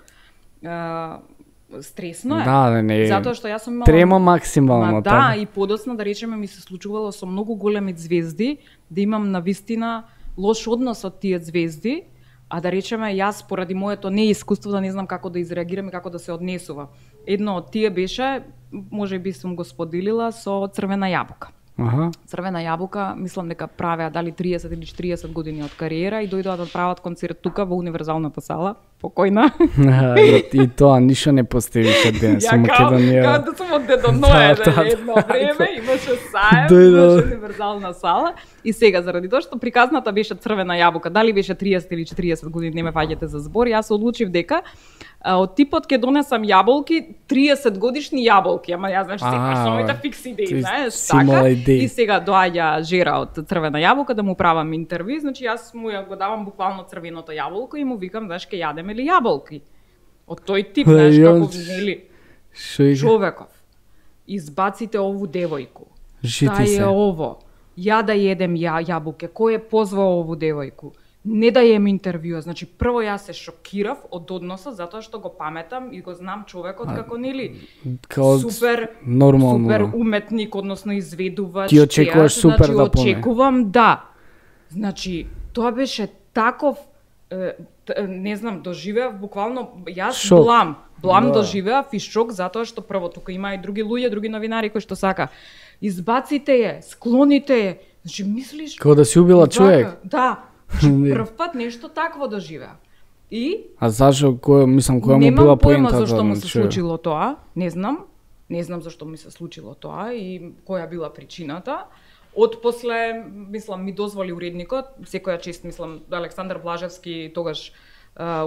Стресно е. Да, не. Затоа што јас сум имала трема максимално. Да, и подоцна да речеме ми се случувало со многу големи звезди да имам навистина лош однос од тие звезди, а да речеме јас поради моето неискуство да не знам како да изреагирам и како да се однесува. Едно од тие беше, можеби сум го споделила со Црвена јабука. Црвена јабука, мислам дека правеа дали 30 или 40 години од кариера и дојдоа да прават концерт тука во Универзалната сала, покојна. И тоа ништо не поставише денес во Македонија. Ја да сум од Дедо Ное, едно време имаше саем, имаше Универзална сала и сега заради тоа што приказната беше Црвена јабука, дали беше 30 или 40 години, не ме фаќате за збор, јас одлучив дека од типот ќе донесам јаболки, 30 годишни јаболки, ама јас знаеш секогаш со моите фикс идеи, знаеш, така. И сега доаѓа Жера од Црвена јаболка да му правам интервју, значи јас му ја го давам буквално црвеното јаболко и му викам, знаеш, ке јадеме ли јаболки? Од тој тип, знаеш, како нели човеков. Избаците ову девојку. Та е ово. Ја да једем јаболке. Кој е позвал ову девојку? Не да jem интервјуа. Значи, прво јас се шокирав од односот затоа што го паметам и го знам човекот како нели супер уметник, односно изведувач. Ти очекуваш супер да поме. Очекувам да. Значи, тоа беше таков не знам, доживеав буквално јас блам доживеав и шок затоа што прво тука има и други луѓе, други новинари кои што сака избаците ја, склоните ја. Значи, мислиш како да си убила човек. Да. Прв пат нешто такво доживеа. И А зашо која му била поентата? Немам појма зашто му се случило тоа, не знам зашто ми се случило тоа и која била причината. Отпосле, мислам, ми дозволи уредникот, секоја чест, мислам, Александар Блажевски, тогаш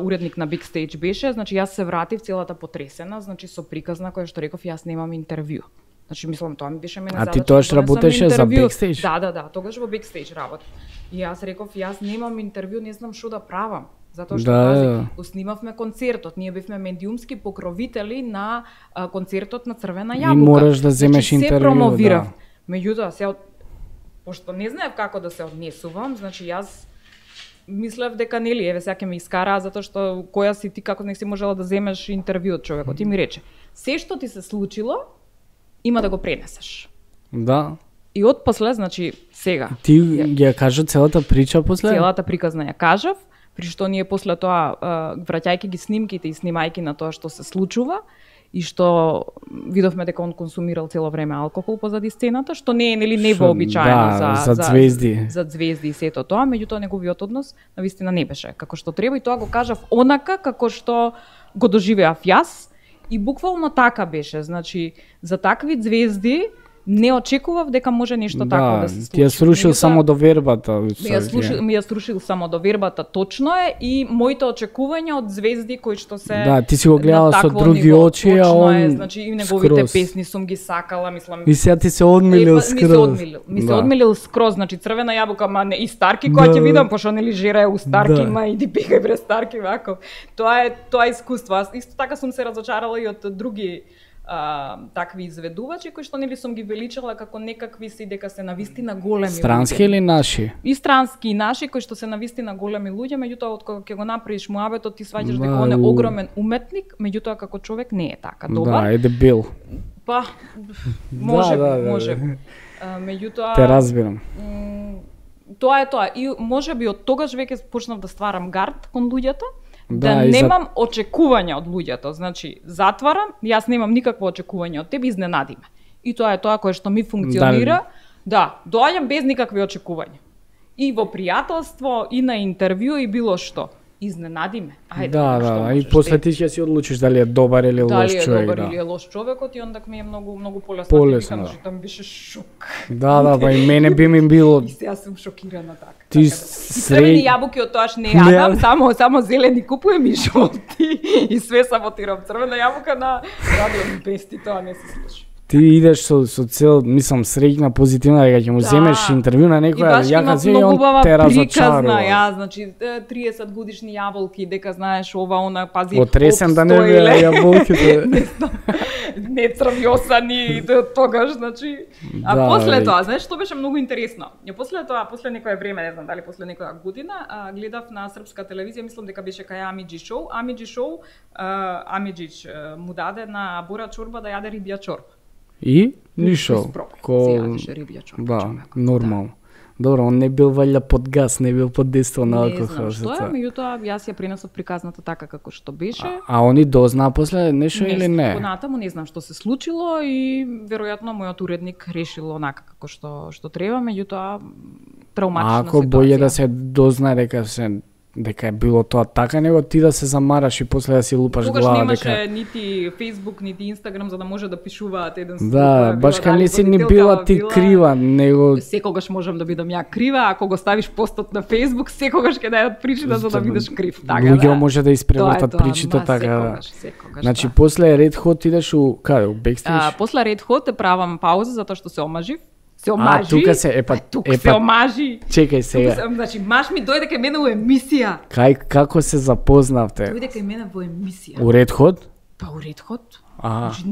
уредник на Big Stage беше, значи јас се вратив целата потресена, значи со приказ на која што реков јас немам интервју. Значи мислам тоа ми беше мене задача. А ти тогаш работеше за Big Stage? Да, тогаш во Big Stage работев. И јас реков јас немам интервју, не знам што да правам. Затоа што го снимавме концертот, ние бевме медиумски покровители на концертот на Црвена јабука. И мораш да земеш интервју. Се промовирав. Меѓутоа се пошто не знаев како да се однесувам, значи јас мислев дека нели еве сега ќе ме искараа затоа што која си ти, како не си можела да земеш интервју од човекот. Ти ми рече, се што ти се случило има да го пренесеш. Да. И отпосле, значи сега. Ти ја кажа целата прича после? Целата приказна ја кажав, при што ние после тоа враќајќи ги снимките и снимајќи на тоа што се случува и што видовме дека он консумирал цело време алкохол позади сцената, што не е нели невообичаено за звезди. За звезди и сето тоа, меѓутоа неговиот однос навистина не беше како што треба и тоа го кажав онака како што го доживеав јас и буквално така беше, значи за такви звезди не очекував дека може нешто такво да се случи. Ти ја срушил само довербата. Ми ја срушил само довербата, точно е, и моите очекувања од звезди кои што се Да, ти си го гледала со други очи, а он е, значи и неговите песни сум ги сакала, мислам. И сега ти се одмилил скроз. Ми се одмилил скроз, значи Црвена јабука, ма не и Старки која ќе видам, пошто нели жера е у Старки, ма иди пикај бре Старки вако. Тоа е искуство. Аз исто така сум се разочарала и од други такви изведувачи кои што нели сум ги величала како некакви си дека се навистина големи. Странски или наши? И странски и наши кои што се навистина големи луѓе, меѓутоа од кога ќе го направиш муабетот ти сваќаш дека он е огромен уметник, меѓутоа како човек не е така добар. Да, е дебил. Па може. Меѓутоа те разбирам. Тоа е тоа и можеби од тогаш веќе почнав да стварам гард кон луѓето. Да немам очекувања од луѓето, значи затварам, јас немам никакво очекување од тебе, изненади ме. И тоа е тоа кое што ми функционира. Да, доаѓам без никакви очекувања. И во пријателство, и на интервју, и било што. Изненади ме. Ајде, да, и после ти ќе си одлучиш дали е добар или лош човек. Дали е добар или е лош човекот и ондак ми е многу полесно. Полесно. Тоа ми беше шок. Да, па и мене би ми било. И сега сум шокирана така. Ти Црвени јабуки од тоаш не јадам, само зелени купувам и жолти и све саботирам. Црвена јабука на радио пести, тоа не се слуша. Ти идеш со цел, мислам, среќна, позитивна, дека ќе му земеш интервју на некоја, ја кажи и он те разочарува. Ја, значи 30 годишни јаболки, дека знаеш ова, она, пази, отресен да не беа јаболките. Не црвјосани тогаш, значи. А после тоа, знаеш што беше многу интересно? После тоа, после некое време, не знам дали после некоја година, гледав на српска телевизија, мислам дека беше кај Амиџи шоу. Амиџич му даде на Бора Чорба да јаде рибја чорба. И ништо. Да, нормално. Добро, он не бил валја под газ, не бил под действие на алкохол. Не знам што е, меѓутоа јас ја пренесов приказната така како што беше. А они дознаа после нешто или не? Понатаму не знам што се случило и веројатно мојот уредник решил онака како што треба, меѓутоа травматична ситуација. Ако боље да се дознае дека е било тоа така, него ти да се замараш и после да си лупаш глава дека. Тогаш немаше нити Facebook, нити Instagram за да може да пишуваат еден со друг. Да, баш кај не си ни била ти крива, него секогаш можам да бидам ја крива, ако го ставиш постот на Facebook, секогаш ќе најдат причина за да бидеш крив, така да. Луѓе може да испревртат причите така. Секогаш. Значи после Red Hot идеш у каде, у Backstage? После Red Hot правам пауза затоа што се омажив. Се омажи. Тука се се омажи. Чекај сега. Значи маж ми дојде кај мене во емисија. Како се запознавте? Дојде кај мене во емисија. У Red Hot? Па у Red Hot. Значи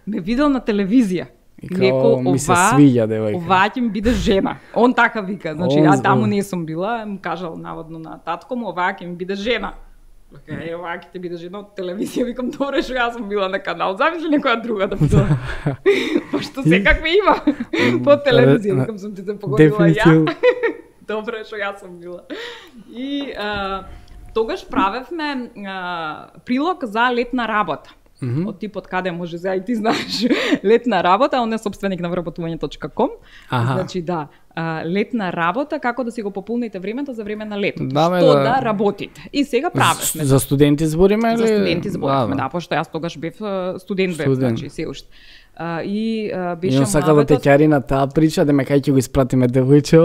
ме видел на телевизија. И како ми се свиѓа девојка. Ова ќе ми биде жена. Он така вика. Значи ја таму не сум била, му кажал наводно на татко му, ова ќе ми биде жена. Е, ова ќе ти биде жена од телевизија, викам добре што јас сум била на канал. Замисли некоја друга да бидам. Пошто секакви има по телевизија, викам сум ти се погодила ја. Добре што јас сум била. И тогаш правевме прилог за летна работа. од типот каде може за и ти знаеш летна работа, он е собственик на вработување.com. Значи да, летна работа, како да си го пополните времето за време на летото. Што да работите. И сега правевме. За студенти збориме или? За студенти збориме, да, пошто јас тогаш бев студент, значи се уште. И беше муабетот. Сака да те ќари на таа прича, да ме кај ќе го испратиме девојче,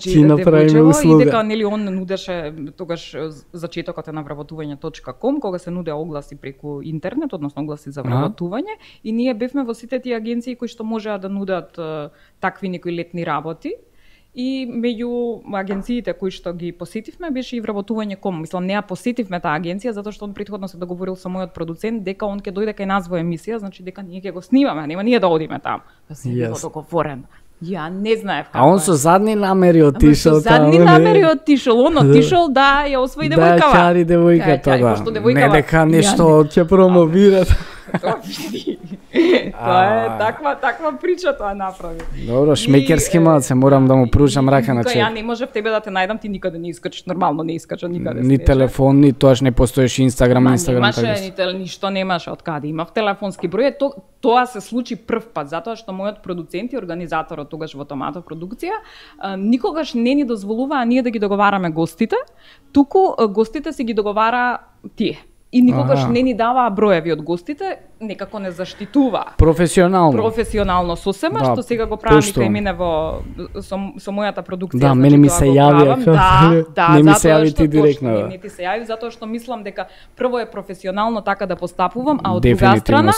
ти направиме услуга. И дека нели он нудеше тогаш зачетокот е на вработување.com, кога се нуде огласи преку интернет, односно огласи за вработување, и ние бевме во сите тие агенции кои што можеа да нудат такви некои летни работи. И меѓу агенциите кои што ги посетивме беше и вработување.com. Мислам, не ја посетивме таа агенција затоа што он претходно се договорил со мојот продуцент дека он ќе дојде кај нас во емисија, значи дека ние ќе го снимаме, нема ние да одиме таму. Да се било договорено. Ја не знаев како. А он со задни намери отишол таму. Со задни намери отишол, он отишол да ја освои девојкава. Да, ќари девојката, да. Не дека нешто ќе промовират. Тоа е таква прича тоа направи. Добро, шмекерски малце, морам да му пружам рака на човек. Ја не можев тебе да те најдам, ти никаде не искачиш, нормално не искача никаде. Ни телефон, ни тоаш не постоеше Инстаграм, немаше, ништо немаше од каде. Имав телефонски број, тоа се случи прв пат, затоа што мојот продуцент и организаторот тогаш во Томато продукција никогаш не ни дозволуваа ние да ги договараме гостите, туку гостите си ги договара тие. И никогаш не ни даваа броеви од гостите, некако не заштитуваа. Професионално сосема, што сега го правам и кај мене со мојата продукција. Да, мене ми се јавија. Не ми се јави ти директно. Не ти се јави затоа што мислам дека прво е професионално така да постапувам, а од друга страна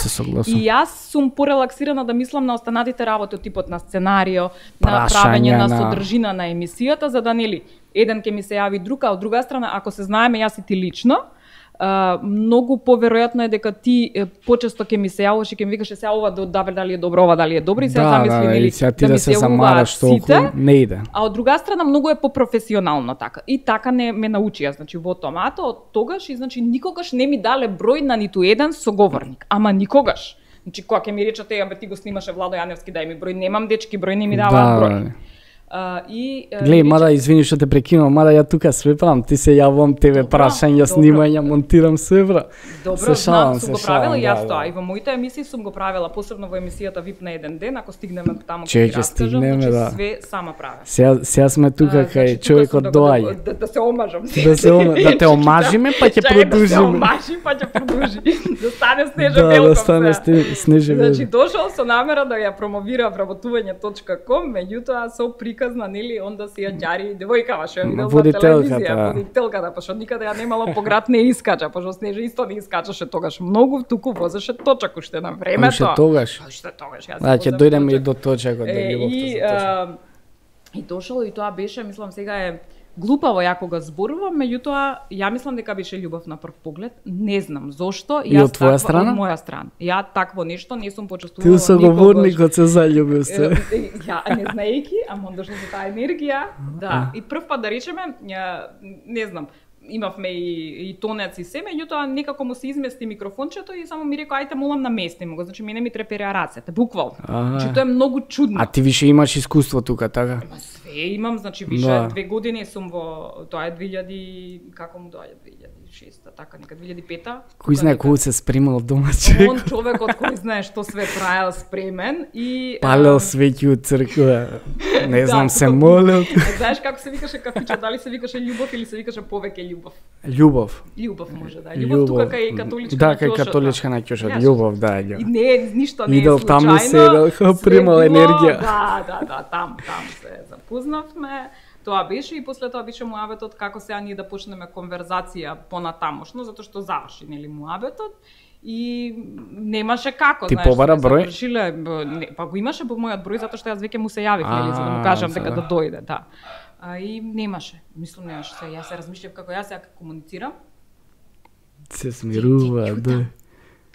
и јас сум порелаксирана да мислам на останатите работи од типот на сценарио, на правење на содржина на емисијата, за да нели еден ќе ми се јави друг, а од друга страна ако се знаеме јас и ти лично, многу поверојатно е дека ти почесто ќе ми се јавуваш и ќе ми викаше сега ова дали е добро, ова дали е добро и сега замисли нели да ми се замараш толку не иде. А од друга страна многу е попрофесионално така. И така не ме научија, значи во Томато од тогаш и значи никогаш не ми дале број на ниту еден соговорник, ама никогаш. Значи кога ќе ми речете ја ти го снимаше Владо Јаневски, дај ми број, немам дечки број, не ми даваат број. Глеј, мада извини што те прекинувам, мада ја тука све правам, ти се јавувам тебе прашања, снимања, монтирам све бра. Добро, знам, сум го правила јас тоа, и во моите емисии сум го правила, посебно во емисијата VIP на еден ден, ако стигнеме таму ќе ти раскажам, значи све сама правам. Сега сме тука кај човекот доаѓа. Да се омажам. Да те омажиме, па ќе продолжиме. Да се омажи, па ќе продолжи. Да стане Снежа Велков. Да стане Снежа Велков. Значи дошол со намера да ја промовира вработување.com, меѓутоа со приказна, нели, онда си ја ѓари девојкава што ја видел на телевизија, водителката, пошто никаде ја немало по град не искача, пошто Снежа исто не искачаше тогаш многу, туку возеше точак уште на времето. Уште тогаш. Да, ќе дојдеме и до точакот, да ги И дошол и тоа беше, мислам сега е глупаво ја кога зборувам, меѓутоа ја мислам дека беше љубов на прв поглед. Не знам зошто. И од твоја страна? Од моја страна. Ја такво нешто не сум почувствувала. Ти соговорникот се заљубил се. Ја не знаејќи, ама он дошол со таа енергија. Да. И прв пат да речеме, не знам, имавме и тонец и се, меѓутоа некако му се измести микрофончето и само ми рекоа ајде молам наместимо го, значи мене ми трепереа рацете, буквално. Значи тоа е многу чудно. А ти више имаш искуство тука, така? Ма све имам, значи више 2 години сум во тоа е 2000, како му доаѓа 2006, така нека 2005-та. Кој знае кој се спремал дома човек? Он човекот кој знае што све траел спремен и палел свеќи од црква. Не знам, се молел. Знаеш како се викаше кафичот, дали се викаше љубов или се викаше повеќе љубов? Љубов може да. Љубов тука кај католичка. Да, кај католичка на ќошот. Љубов, да. И не, ништо не е случајно. Идел таму седел, примал енергија. Да, там се запознавме. Тоа беше и после тоа беше муабетот како сега ние да почнеме конверзација понатамошно, затоа што заврши нели муабетот и немаше како, знаеш. Ти побара број? Па го имаше по мојот број затоа што јас веќе му се јавив, нели, за да му кажам дека да дојде, да. И немаше. Мислам немаше. Јас се размишлев како јас сега комуницирам. Се смирува, да.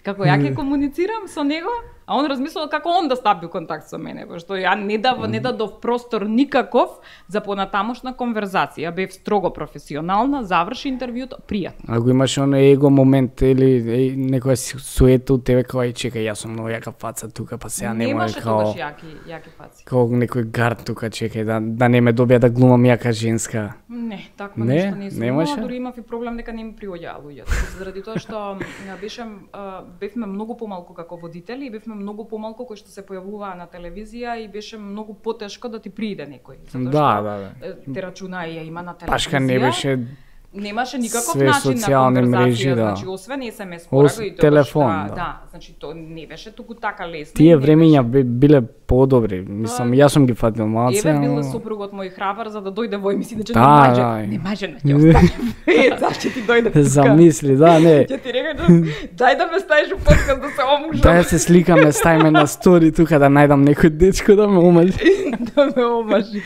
Како ја ќе комуницирам со него, А он размислил како он да стапи у контакт со мене, пошто ја не дадов простор никаков за понатамошна конверзација. Бев строго професионална, заврши интервјуто, пријатно. Ако имаш оној его момент или некоја суета од тебе кај чекај, јас сум многу јака фаца тука, па сега не може као јаки фаци. Као некој гард тука, чекај да не ме добија да глумам јака женска. Не, такво нешто не сум. Дури имав и проблем дека не ми приоѓаа луѓето. Заради тоа што бевме многу помалку како водители и бевме многу помалку кои што се појавуваа на телевизија и беше многу потешко да ти прииде некој. Да. Те рачуна ја има на телевизија. Пашка не беше немаше никаков начин на конверзација, значи освен SMS порака и телефон. Да, значи тоа не беше туку така лесно. Тие времења биле подобри. Мислам, јас сум ги фатил малце. Еве бил супругот мој храбар за да дојде во емисија, значи не може да ќе остане. Зашто ти дојде тука? Замисли, да, не. Ќе ти рекам, дај да ме ставиш во подкаст да се омажам. Дај се сликаме, ставиме на стори тука да најдам некој дечко да ме омажи. Да ме омажи.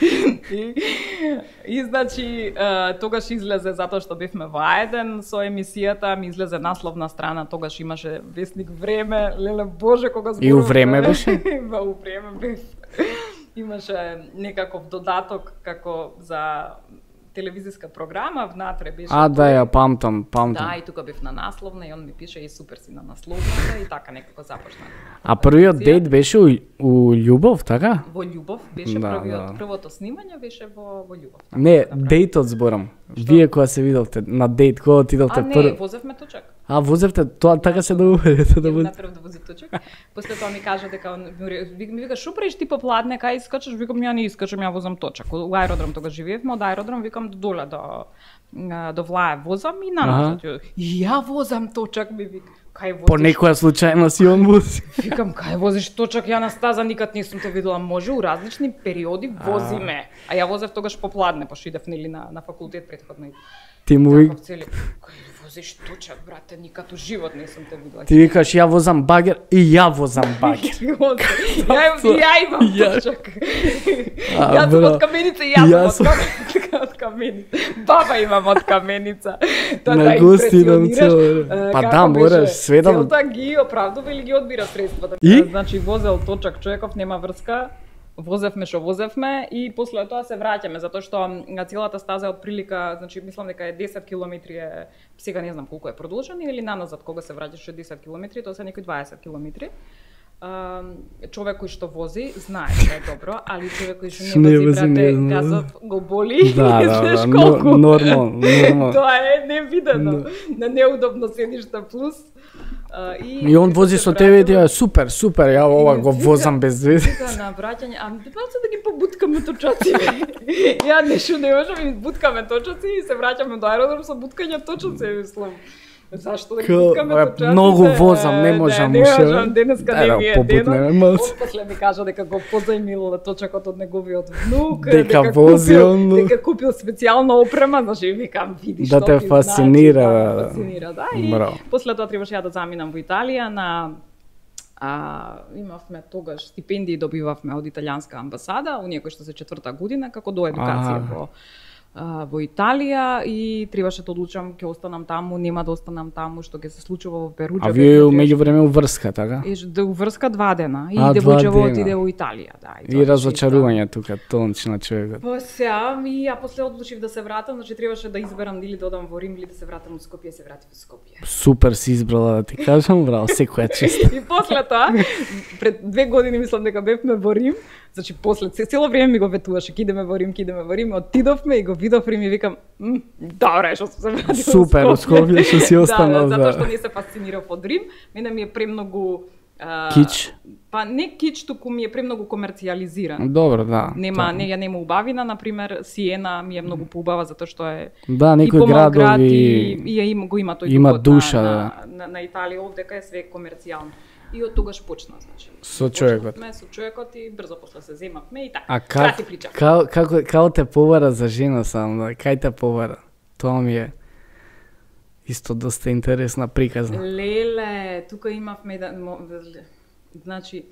И значи тогаш излезе затоа што бевме во А1 со емисијата, ми излезе насловна страна, тогаш имаше вестник Време, леле боже кога зборуваме. И у Време беше? У Време бев. Имаше некаков додаток како за телевизиска програма, внатре беше. Да, ја памтам. Да, и тука бев на насловна и он ми пише и супер си на насловната и така некако започна. А првиот дейт беше у љубов, така? Во љубов беше првото снимање беше во љубов. Така, не, дейтот зборам. Вие кога се видовте на дейт, кога отидовте прв? Не, возевме точак. Возевте, тоа така се договорите да буде. Направив да вози точак. После тоа ми кажа дека ми вика шо правиш ти попладне, кај искачаш, викам ја не искачам, ја возам точак. У аеродром тогаш живеевме, од аеродром викам доле до Влаев возам и наназад. Ја возам точак, ми вика. По некоја случајно си он вози. Викам, кај возиш точак, ја на стаза никад не сум те видела. Може, у различни периоди возиме. А ја возев тогаш попладне, пошто идев нели на факултет претходно. Ти му кај возиш точак, брате, никад у живот не сум те видела. Ти викаш, ја возам багер и ја возам багер. Ја имам точак. Јас сум од Каменица и јас сум од Каменица. Баба имам од Каменица. На гостинам цело. Па да, мораш све да... Целта ги оправдува или ги одбира средствата. Значи, возел точак човеков, нема врска. Возевме што возевме и после тоа се враќаме, затоа што целата стаза од прилика, значи мислам дека е 10 километри, сега не знам колку е продолжен или наназад кога се враќаш 10 километри, тоа се некои 20 километри. Човек кој што вози знае дека е добро, али човек кој што не вози, брате, газот го боли. Да, нормално. Тоа е невидено. На неудобно седиште плюс. И он вози со тебе и ти е супер, ја ова го возам без везе. На враќање, баца да ги побуткаме точаци. Ја нешто не можам и буткаме точаци и се враќаме до аеродром со буткање точаци, мислам. Зашто да ги буткаме точаци? Многу возам, не можам уште. Не можам, денеска не ми е денот. После ми кажа дека го позајмил точакот од неговиот внук, дека купил специјална опрема, значи викам, видиш да те фасцинира. Да, и после тоа требаше ја да заминам во Италија на имавме тогаш стипендии добивавме од италијанска амбасада, оние кои што се 4-та година како до едукација во Италија и требаше да одлучам ќе останам таму, нема да останам таму, што ќе се случува во Перуџа. А вие меѓувреме врска, така? Врска 2 дена и девојчево отиде во Италија, да. И разочарување тука, тончна човекот. Па сега ја после одлучив да се вратам, значи требаше да изберам или да одам во Рим или да се вратам од Скопје, се вратив во Скопје. Супер си избрала да ти кажам, браво, секоја чест. И после тоа, пред 2 години мислам дека бевме во Рим. Значи после цело време ми го ветуваше, кидеме во Рим, отидовме и го видов Рим и викам, добре, што се вратил. Супер, од Скопје што си останал. Да, затоа што не се фасцинирав од Рим, мене ми е премногу кич. Па не кич, туку ми е премногу комерцијализиран. Добро, да. Ја нема убавина, на пример, Сиена ми е многу поубава затоа што е некои градови и го има тој има душа на Италија, овдека е све комерцијално. И од тогаш почна, значи. Со човекот и брзо после се земавме и така. А како те повара за жена сам, кај те повара? Тоа ми е исто доста интересна приказна. Леле, тука имавме значи,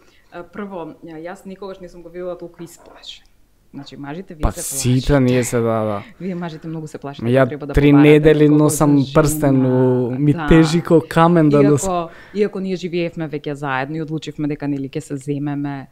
прво, јас никогаш не сум го видела толку исплашен. Значи мажите вие па, се плашите. Па сите ние се да. Вие мажите многу се плашите. Ја треба да 3 недели носам прстен, ми тежи ко камен да носам. Иако ние живеевме веќе заедно и одлучивме дека нели ќе се земеме,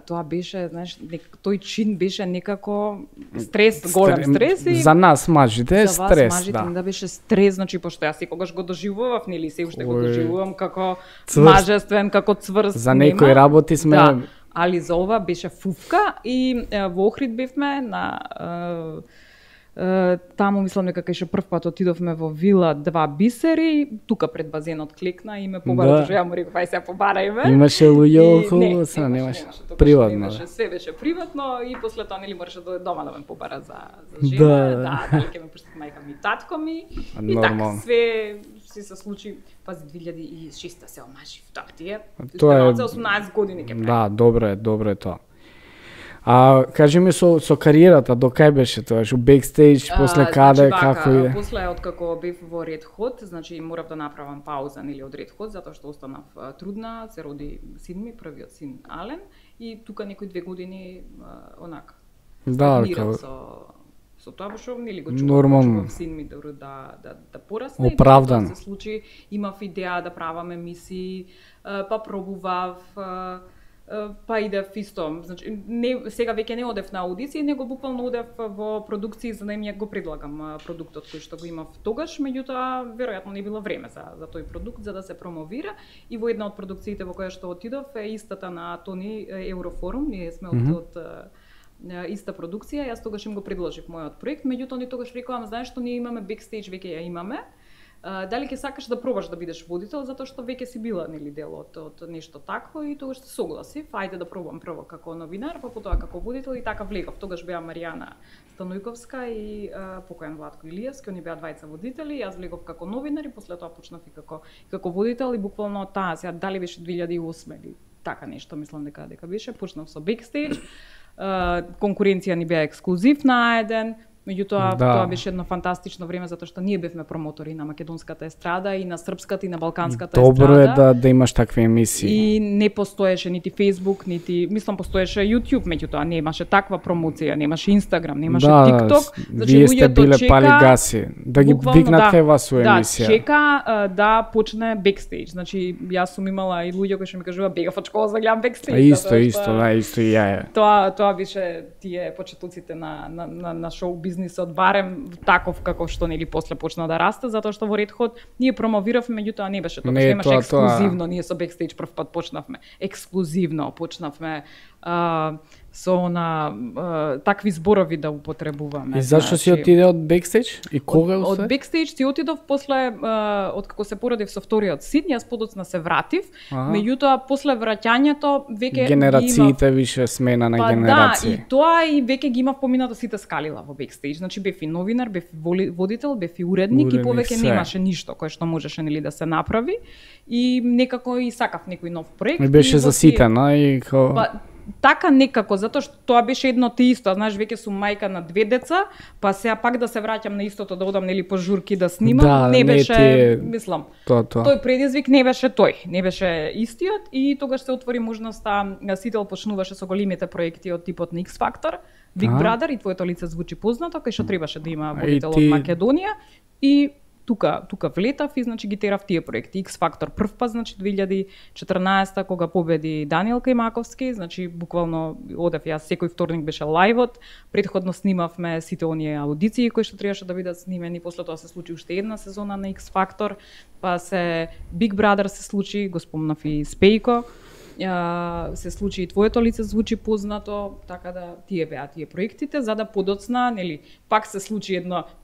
тоа беше, знаеш, тој чин беше некако стрес, голем стрес и за нас мажите е стрес, мажите, да беше стрес, значи пошто јас секогаш го доживував, нели, се уште го доживувам како мажествен, како цврст. За некои работи сме да, али за ова беше фуфка и во Охрид бевме на таму мислам дека кај прв пат отидовме во вила Два бисери, тука пред базенот клекна и ме побара, што ја му реков ај се побарајме. Имаше луѓе околу, се немаше приватно. Све беше приватно и после тоа нели мораше да дома да ме побара за жена, да, дали ќе ме пуштат мајка ми, татко ми. И така све се случи, пази 2006 се омажив, так тие. Тоа е 18 години ќе прави. Да, добро е тоа. Кажи ми со кариерата, до кај беше тоа? Што бекстејдж, после каде, како иде? После откако бев во Ред Хот, значи морав да направам пауза нели од Ред Хот затоа што останав трудна, се роди син ми, првиот син Ален и тука некои 2 години онак. Да, со тоа што нели го чував син ми да порасне. Оправдан. Се случи, имав идеја да правам емисии, па пробував па идев исто, значи сега веќе не одев на аудиции, него буквално одев во продукции за да им го предлагам продуктот кој што го имав тогаш, меѓутоа веројатно не било време за тој продукт за да се промовира и во една од продукциите во која што отидов е истата на Тони Еврофорум, ние сме од иста продукција, јас тогаш им го предложив мојот проект, меѓутоа они тогаш рекоа, знаеш што ние имаме бекстејдж, веќе ја имаме. Дали ќе сакаш да пробаш да бидеш водител затоа што веќе си била нели дел од нешто такво и тогаш се согласив, ајде да пробам прво како новинар, па потоа како водител и така влегов. Тогаш беа Маријана Станујковска и покоен Владко Илиевски, они беа двајца водители, јас влегов како новинар и после тоа почнав и како водител и буквално таа сега дали беше 2008 или така нешто, мислам дека беше, почнав со бекстејдж. Конкуренција ни беа ексклузив на еден. Меѓутоа, тоа беше едно фантастично време затоа што ние бевме промотори на македонската естрада и на српската и на балканската естрада. Добро е да имаш такви емисии. И не постоеше нити Facebook, нити, мислам постоеше YouTube, меѓутоа немаше таква промоција, немаше Instagram, немаше TikTok. Значи вие сте биле пали гаси, да ги викнат вас у емисија. Да, чека да почне бекстејдж. Значи јас сум имала и луѓе кои што ми кажува бегав од школа за да гледам бекстејдж. Исто и ја. Тоа беше тие почетоците на шоу бизнисот, барем таков како што нели после почна да расте, затоа што во Ред Хот ние промовиравме, меѓутоа не беше тоа, немаше ексклузивно, ние со бекстејдж прв пат почнавме ексклузивно, почнавме со такви зборови да употребуваме. И зашто си отиде од бекстејдж? И кога од бекстејдж си отидов после од како се породив со вториот син, јас подоцна се вратив, меѓутоа после враќањето веќе генерациите више смена на генерации. Да, и тоа и веќе ги имав поминато сите скалила во бекстејдж. Значи бев и новинар, бев и водител, бев и уредник и повеќе немаше ништо кое што можеше нели да се направи и некако и сакав некој нов проект. И беше заситена и така некако, затоа што тоа беше едно те исто, знаеш, веќе сум мајка на 2 деца, па сега пак да се враќам на истото, да одам нели по журки да снимам, не беше, мислам, тој предизвик не беше тој, не беше истиот и тогаш се отвори можноста, Сител почнуваше со големите проекти од типот на X Factor, Big Brother и твоето лице звучи познато, кај што требаше да има водител од Македонија и тука влетав и значи ги терав тие проекти. X Factor прв пат, значи 2014 кога победи Даниел Кајмаковски, значи буквално одев јас секој вторник беше лајвот, претходно снимавме сите оние аудиции кои што требаше да бидат снимени, после тоа се случи уште една сезона на X Factor, па се Big Brother се случи, го спомнав и Спејко, се случи и твоето лице звучи познато, така да тие беа тие проектите, за да подоцна, нели, пак се случи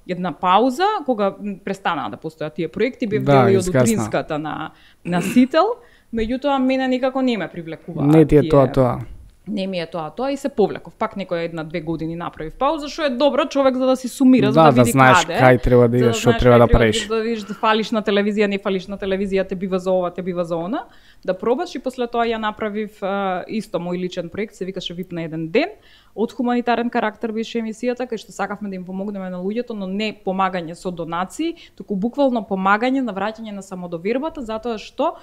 една пауза кога престанаа да постојат тие проекти, бев дел и од утринската на Сител, меѓутоа мене никако не ме привлекува. Не ти е тоа. Не ми е тоа и се повлеков. Пак некоја 1-2 години направив пауза, што е добро човек за да си сумира, за да види знаеш кај треба да идеш, што треба да правиш. Да видиш да фалиш на телевизија, не фалиш на телевизија, те бива за ова, те бива за она, да пробаш и после тоа ја направив исто мој личен проект, се викаше VIP на еден ден, од хуманитарен карактер беше емисијата, кај што сакавме да им помогнеме на луѓето, но не помагање со донации, туку буквално помагање на враќање на самодовербата, затоа што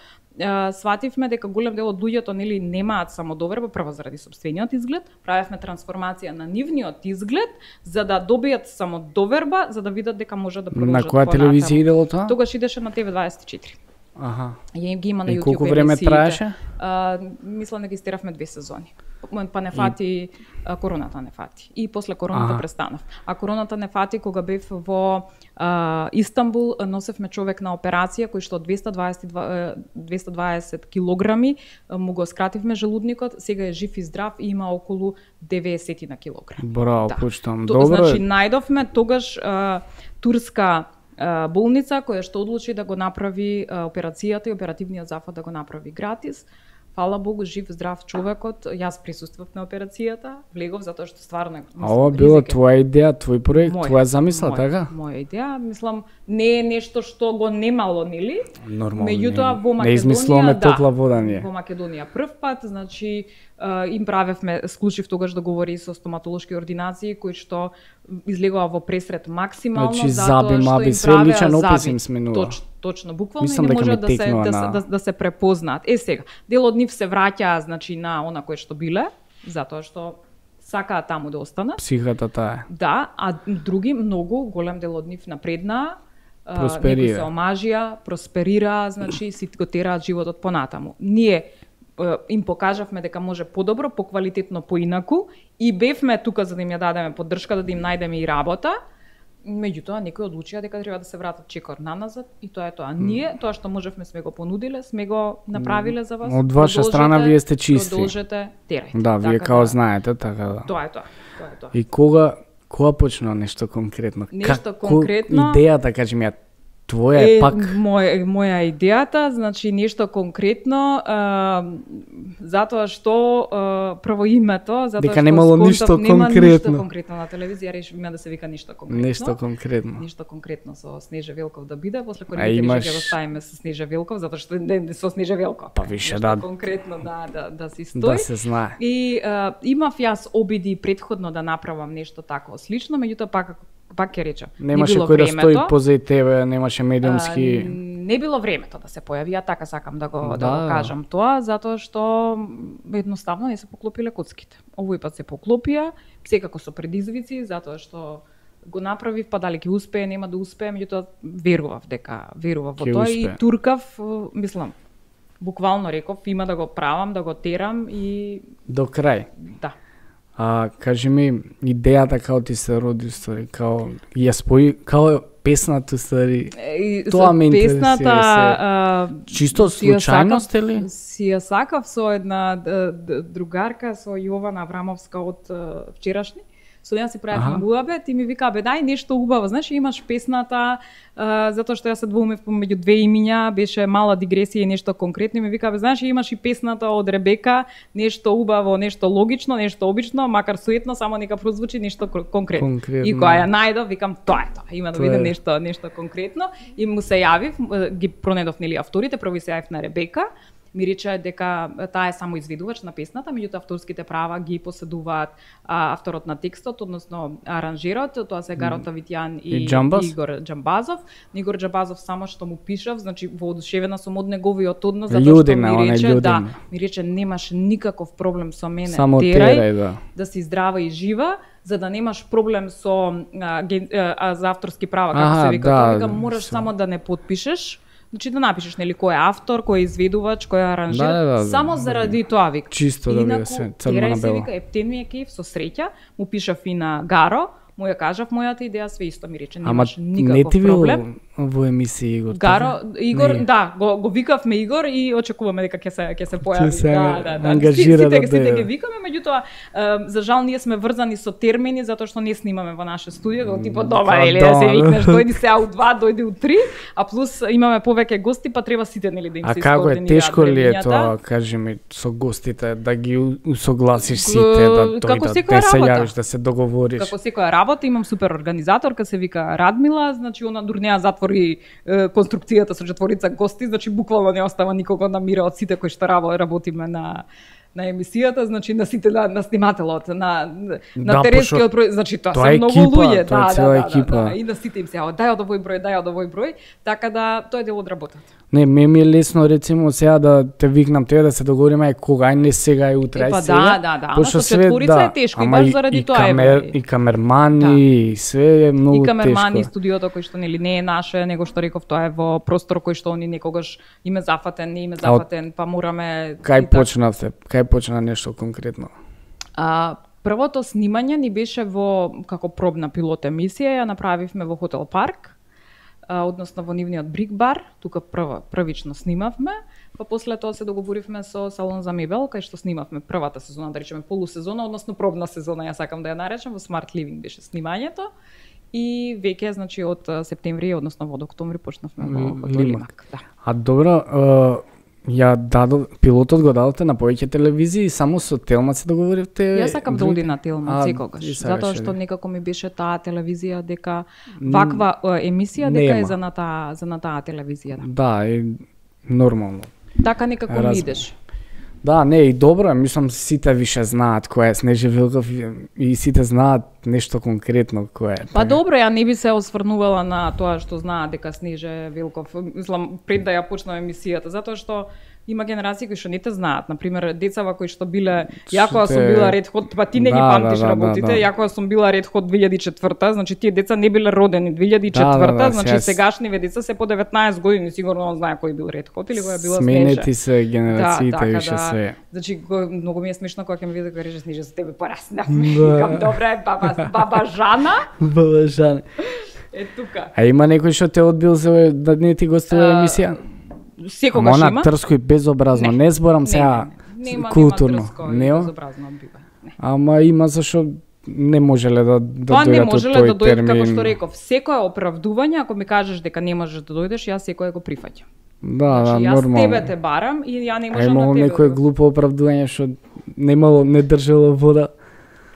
свативме дека голем дел од луѓето нели немаат самодоверба, прво заради сопствениот изглед, правевме трансформација на нивниот изглед за да добијат самодоверба, за да видат дека можат да продолжат. На која телевизија идело тоа? Тогаш идеше на TV24. Аха. Ја ги има на YouTube. И колку време траеше? Мислам дека истеравме 2 сезони. Па не фати короната не фати. И после короната престанав. А короната не фати кога бев во Истанбул, носевме човек на операција кој што 220 килограми му го скративме желудникот, сега е жив и здрав и има околу 90 на килограми. Браво, почитам. Добро. Значи најдовме тогаш турска болница која што одлучи да го направи операцијата и оперативниот зафат да го направи гратис. Фала Богу, жив, здрав човекот. Јас присуствував на операцијата, влегов затоа што стварно ова била твоја идеја, твој проект, твоја замисла, така? Моја идеја, мислам, не е нешто што го немало, нели? Нормално. Меѓутоа во Македонија, не измислуваме топла вода ние. Во Македонија прв пат, значи им правевме, склучив тогаш договори со стоматолошки ординации кои што излегува во пресред максимално, значи, затоа што им све личен опис им сменува. Точно, буквално не може да се препознаат. Сега, дел од нив се враќаа, значи, на она кое што биле, затоа што сакаат таму да останат. Психата таа. Да, а други многу, голем дел од нив напреднаа, просперира. Некои се омажија, просперира, значи си го тераат животот понатаму. Ние им покажавме дека може подобро, поквалитетно, поинаку и бевме тука за да им ја дадеме поддршка, да им најдеме и работа. Меѓутоа некои одлучија дека треба да се вратат чекор наназад и тоа е тоа. Ние тоа што можевме сме го понудиле, сме го направиле за вас. Од ваша страна вие сте чисти. Продолжете, терајте. Да, вие као знаете, така да. Тоа е тоа. И кога почна нешто конкретно? Нешто конкретно. Идејата, кажи ми ја, твоја е пак моја идејата, значи нешто конкретно, затоа што прво името, затоа дека немало ништо конкретно. Ништо конкретно на телевизија решивме да се вика ништо конкретно. Нешто конкретно. Ништо конкретно со Снежа Велков да биде, после кој реши да го ставиме со Снежа Велков, затоа што не со Снежа Велков. Па више да конкретно да се стои. Да се знае. И имав јас обиди претходно да направам нешто такво слично, меѓутоа пак ќе речам. Немаше кој да стои позади тебе, немаше медиумски. Не било времето да се појави, ја така сакам да го кажам тоа, затоа што едноставно не се поклопиле коцките. Овој пат се поклопија, секако со предизвици, затоа што го направив, па дали ќе успее, нема да успее, меѓутоа верував во тоа и туркав, мислам, буквално реков, има да го правам, да го терам и до крај. Да. Кажи ми, идејата као ти се роди, стари, као ја спои, као песната, стари, тоа ме интересира. Чисто случајност или? Си ја сакав со една другарка, со Јована Аврамовска од вчерашни. Со неја си правевме муабет и ми вика, дај нешто убаво, знаеш, имаш песната, затоа што ја се двоумев помеѓу две имиња, беше мала дигресија и нешто конкретно, и ми вика, знаеш, имаш и песната од Ребека, нешто убаво, нешто логично, нешто обично, макар суетно, само нека прозвучи нешто конкретно. И кога ја најдов, викам, тоа е тоа, има да биде нешто конкретно, и му се јавив, ги пронедов нели авторите, прво се јавив на Ребека, ми рече дека таа е само изведувач на песната, меѓутоа авторските права ги поседуваат авторот на текстот, односно аранжерот, тоа се Гарот Авитјан и Игор Џамбазов. Игор Џамбазов само што му пишав, значи воодушевена сум од неговиот однос, затоа што ми рече, ми рече немаш никаков проблем со мене, терај, да си здрава и жива, за да немаш проблем со за авторски права, како се вика, тоа вика, мораш само да не подпишеш. Значи да напишеш нели кој е автор, кој е изведувач, кој е аранжер, само заради тоа вика. Чисто да биде се црно на бело. Вика, ептен ми е кеф со среќа, му пишав и на Гаро, му ја кажав мојата идеја, све исто ми рече, немаш никаков проблем. Во емисија Игор. Игор, да, го викавме Игор и очекуваме дека ќе се појави. Да. Ангажира сите ги викаме, меѓутоа за жал ние сме врзани со термини затоа што не снимаме во наше студио, типа дома или да се викнеш, дојди се у 2, дојди у 3, а плюс имаме повеќе гости, па треба сите нели да им се искоординираат. А како е тешко ли е тоа, кажи ми, со гостите да ги усогласиш сите, да дојдат, да се јавиш, да се договориш? Како секоја работа, имам супер организаторка, се вика Радмила, значи она дур неа затвори конструкцијата со четворица гости, значи буквално не остава никого на мира од сите кои што работиме на емисијата, значи на сите на снимателот, на теренскиот значи тоа се многу луѓе, да, и на сите им се дај од овој број, така да тоа е дел од работата. Не, ми е лесно рецимо сега да те викнам тебе да се договориме кога, ај не сега и утре, ај сега. Ама со четворица е тешко и баш заради тоа и камермани, и све е многу тешко. И камермани, студиото кој што нели не е наше, него што реков тоа е во простор кој што они некогаш име зафатен, не име зафатен, па мораме. Кај почнавте? Кај почна нешто конкретно? Првото снимање ни беше како пробна пилот емисија, ја направивме во Хотел Парк, односно во нивниот Брик бар, тука првично снимавме, па после тоа се договоривме со салон за мебел, кај што снимавме првата сезона, да речеме полусезона, односно пробна сезона, ја сакам да ја наречам, во Smart Living беше снимањето. И веќе, значи, од септември, односно во октомври, почнавме во Хотел Лимак. Да. А добро, пилотот го дадовте на повеќе телевизии, само со Телма се договоривте? Јас сакам да оди на Телма секогаш, затоа што некако ми беше таа телевизија дека ваква емисија дека е за на таа телевизија. Да, е нормално. Така некако ми идеш. Да, не, и добро, мислам сите више знаат кој е Снежи Вилков и сите знаат нешто конкретно кој е. Па добро, ја не би се осврнувала на тоа што знаат дека Снежи Вилков, мислам пред да ја почнам емисијата, затоа што има генерации кои што не те знаат, например децава кои што биле, ја кога сум била Ред Хот, па ти не ги памтиш работите, ја кога сум била Ред Хот 2004, значи тие деца не биле родени 2004, значи сегашниве деца се по 19 години, сигурно он знае кој бил Ред Хот или која била Снежа. Сменети се генерациите више се. Значи многу ми е смешно кога ќе ми види кога рече Снежа за тебе пораснав. Викам добре, баба Жана. Баба Жана. Е тука. А има некој што те одбил за да не ти гостува емисија? Секогаш има. Она трско и безобразно, не зборам сега културно. Нема безобразно бива. Ама има зашо не можеле да дојдат не можеле да дојдат, како што реков, секое оправдување, ако ми кажеш дека не можеш да дојдеш, јас секое го прифаќам. Да, нормално. Јас тебе те барам и ја не можам на тебе. Имало некое глупо оправдување што не држало вода.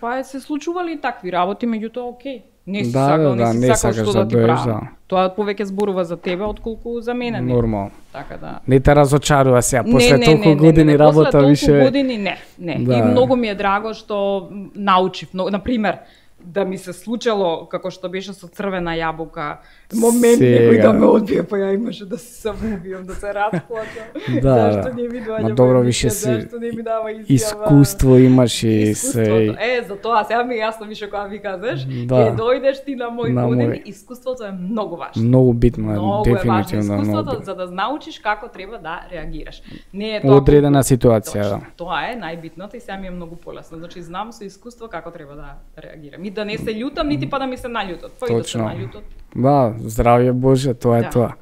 Па се случували и такви работи, меѓутоа окей. Не си сакаш што да ти правам. Тоа повеќе зборува за тебе отколку за мене. Нормално. Така да. Не те разочарува сега после толку години работа више. После толку години не. И многу ми е драго што научив, например, да ми се случило како што беше со Црвена јабука, момент некој да ме одбие, па ја имаше да се самоубијам, да се расплачам. Зашто не ми доаѓа? Добро, више си. Зашто не ми дава изјава? Искуство имаш и се. За тоа сега ми јасно више кога ми кажеш, ќе дојдеш ти на мој поден, искуството е многу важно. Многу битно, дефинитивно. Искуството за да научиш како треба да реагираш. Не е тоа одредена ситуација, да. Тоа е најбитното и сега ми е многу полесно. Значи знам со искуство како треба да реагирам. И да не се љутам, нити па да ми се наљутат. Точно. Да, здравје Боже, тоа е тоа.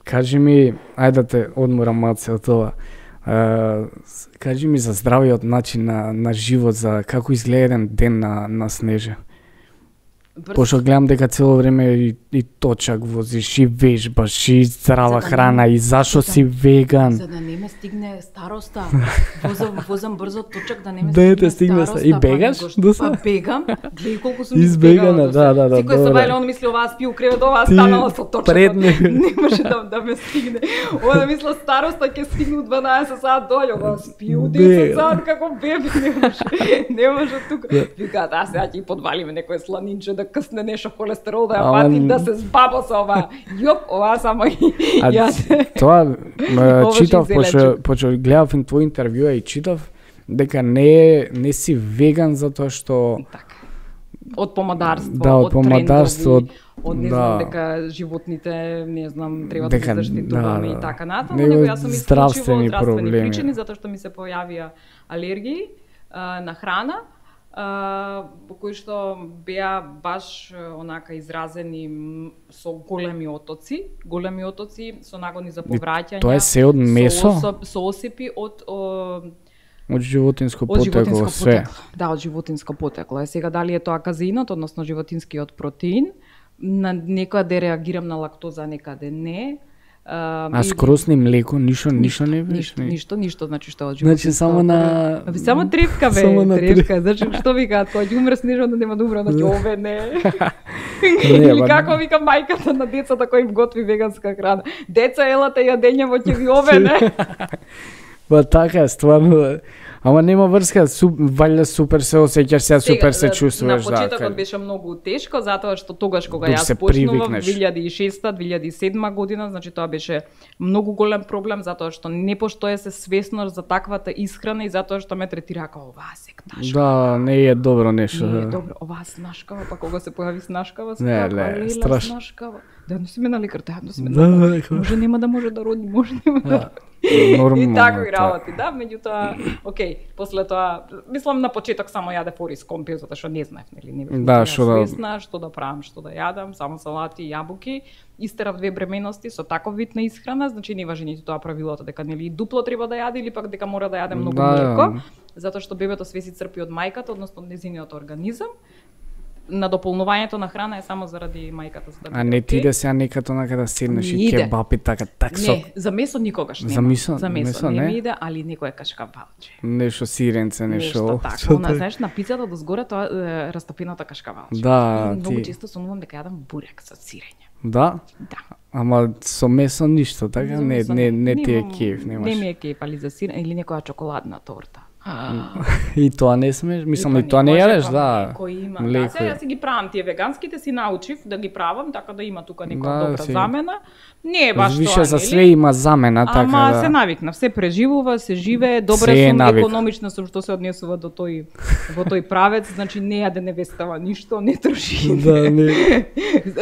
Кажи ми, ајде да те одморам малце од тоа. Кажи ми за здравиот начин на живот, за како изгледа еден ден на Снежа. Пошто гледам дека цело време и точак возиш, и вежбаш, и здрава храна, и зашо си веган. За да не ме стигне староста. Возам брзо точак да не ме стигне староста. И бегаш? Па бегам. Гледај колку сум избегала. Да. Секој се вајле, он мисли оваа спи у кревет, оваа станала со точак. Не може да ме стигне. Ова мисла староста ќе стигне у 12 сат дојде, оваа спи у 10 сат како бебе, не може тука. Викаат, а сега ќе подвалиме некој сланинче да късне нешто холестерол да ја пати да се збаба со ова. Ова само јас. Тоа читав, почо гледав твој интервју и читав дека не си веган затоа што така. Од помадарство, од помадарство, од не знам дека животните, не знам, треба да се заштитуваме и така натаму, него јас сум исклучиво од здравствени причини затоа што ми се појавија алергии на храна. По кои што беа баш онака изразени со големи отоци со нагони за повраќање. Тоа е се од месо? Со осипи од животинско потекло, све. Да, од животинско потекло. Сега дали е тоа казеинот, односно животинскиот протеин, на некаде реагирам на лактоза, некаде не. А скроз ни млеко, ништо не беше? Ништо, значи што од животинско. Значи само на само тревка бе, тревка. Значи што викаат, кога ќе умре Снежа, да нема да умре, значи ове не. Или како вика мајката на децата кои им готви веганска храна. Деца елате јадењево ќе ви ове не. Ба така, стварно. Ама нема врска, валја супер се осеќаш, се супер се чувствуваш. На почетокот беше многу тешко, затоа што тогаш кога јас почнував 2006-2007 година, значи тоа беше многу голем проблем, затоа што не постоje се свесност за таквата исхрана и затоа што ме третира како оваа секташка. Да, не е добро нешто. Не е добро, оваа снашкава, па кога се појави снашкава, не, страшно. Снашкава. Да, не си ме на лекар, може нема да може да роди, може нема да. И така и работи, да, меѓутоа, окей, после тоа, мислам на почеток само јаде фори с компир, затоа што не знаев, нели, не бев свесна, што да правам, што да јадам, само салати и јабуки, истерав 2 бременности со таков вид на исхрана, значи не важи ниту тоа правилото дека нели дупло треба да јаде или пак дека мора да јаде многу млеко, затоа што бебето све си црпи од мајката, односно од нејзиниот организам. На дополнувањето на храна е само заради мајката, за да биде. А не ти да се некато накаде седнеш и кебапи така таксок. Не, за месо никогаш нема. За месо не ми иде, али некоја кашкавалче. Нешто сиренце, нешто така. Она знаеш на пицата дозгоре тоа растопената кашкавалче. Да, многу често сонувам дека јадам бурек со сирење. Да? Да. Ама со месо ништо, така не ти е кеф, немаш. Не ми е кеф, али за сирење или некоја чоколадна торта. И тоа не смеш, мислам и тоа не јадеш, да. Кој има, да, сега си ги правам тие веганските, си научив да ги правам, така да има тука некоја добра замена. Не е баш тоа, више за све има замена, така да. Ама се навикна, се преживува, се живее, добре сум, економична сум што се однесува до тој во тој правец, значи не јаде невестава ништо, не троши. Да,